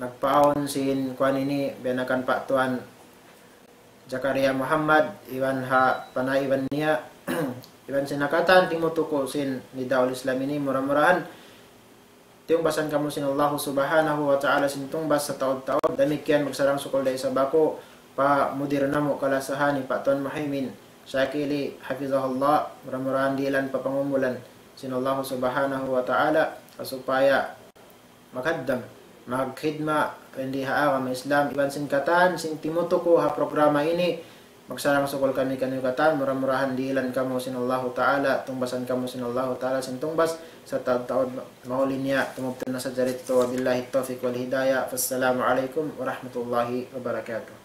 nagpaawn sin kuwan ini, biya' na kan Pak Tuan Zakaria Muhammad, iban ha panaiban niya, iban sin ha katan timutuku' sin Nidaul Islam ini, mura-murahan tiyungbasan kamu sin Allahu subhanahu wa ta'ala sin tungbas sataud-taud. Damikkiyan magsarang-sukul da isab aku pa mudir namu' kalasahan hi Pak Tuan Muhaymin Shakili, hafizahullah, mura-murahan dihilan pa pangumulan sin Allahu subhanahu wa ta'ala, supaya maghaddam, magkhidma, dindi ha agama Islam, iban sin katan sin timutuku' ha programa ini. Magsarang-sukul kami kaniyu katan, mura-murahan dihilan kamu sin Allahu ta'ala, tungbasan kamu sin Allahu ta'ala sin tungbas sataud-taud, mahuli niya tumubtub na sadja ditu. Wabillahi tawfiq wal hidayah. Wassalamu alaykum warahmatullahi wabarakatuh.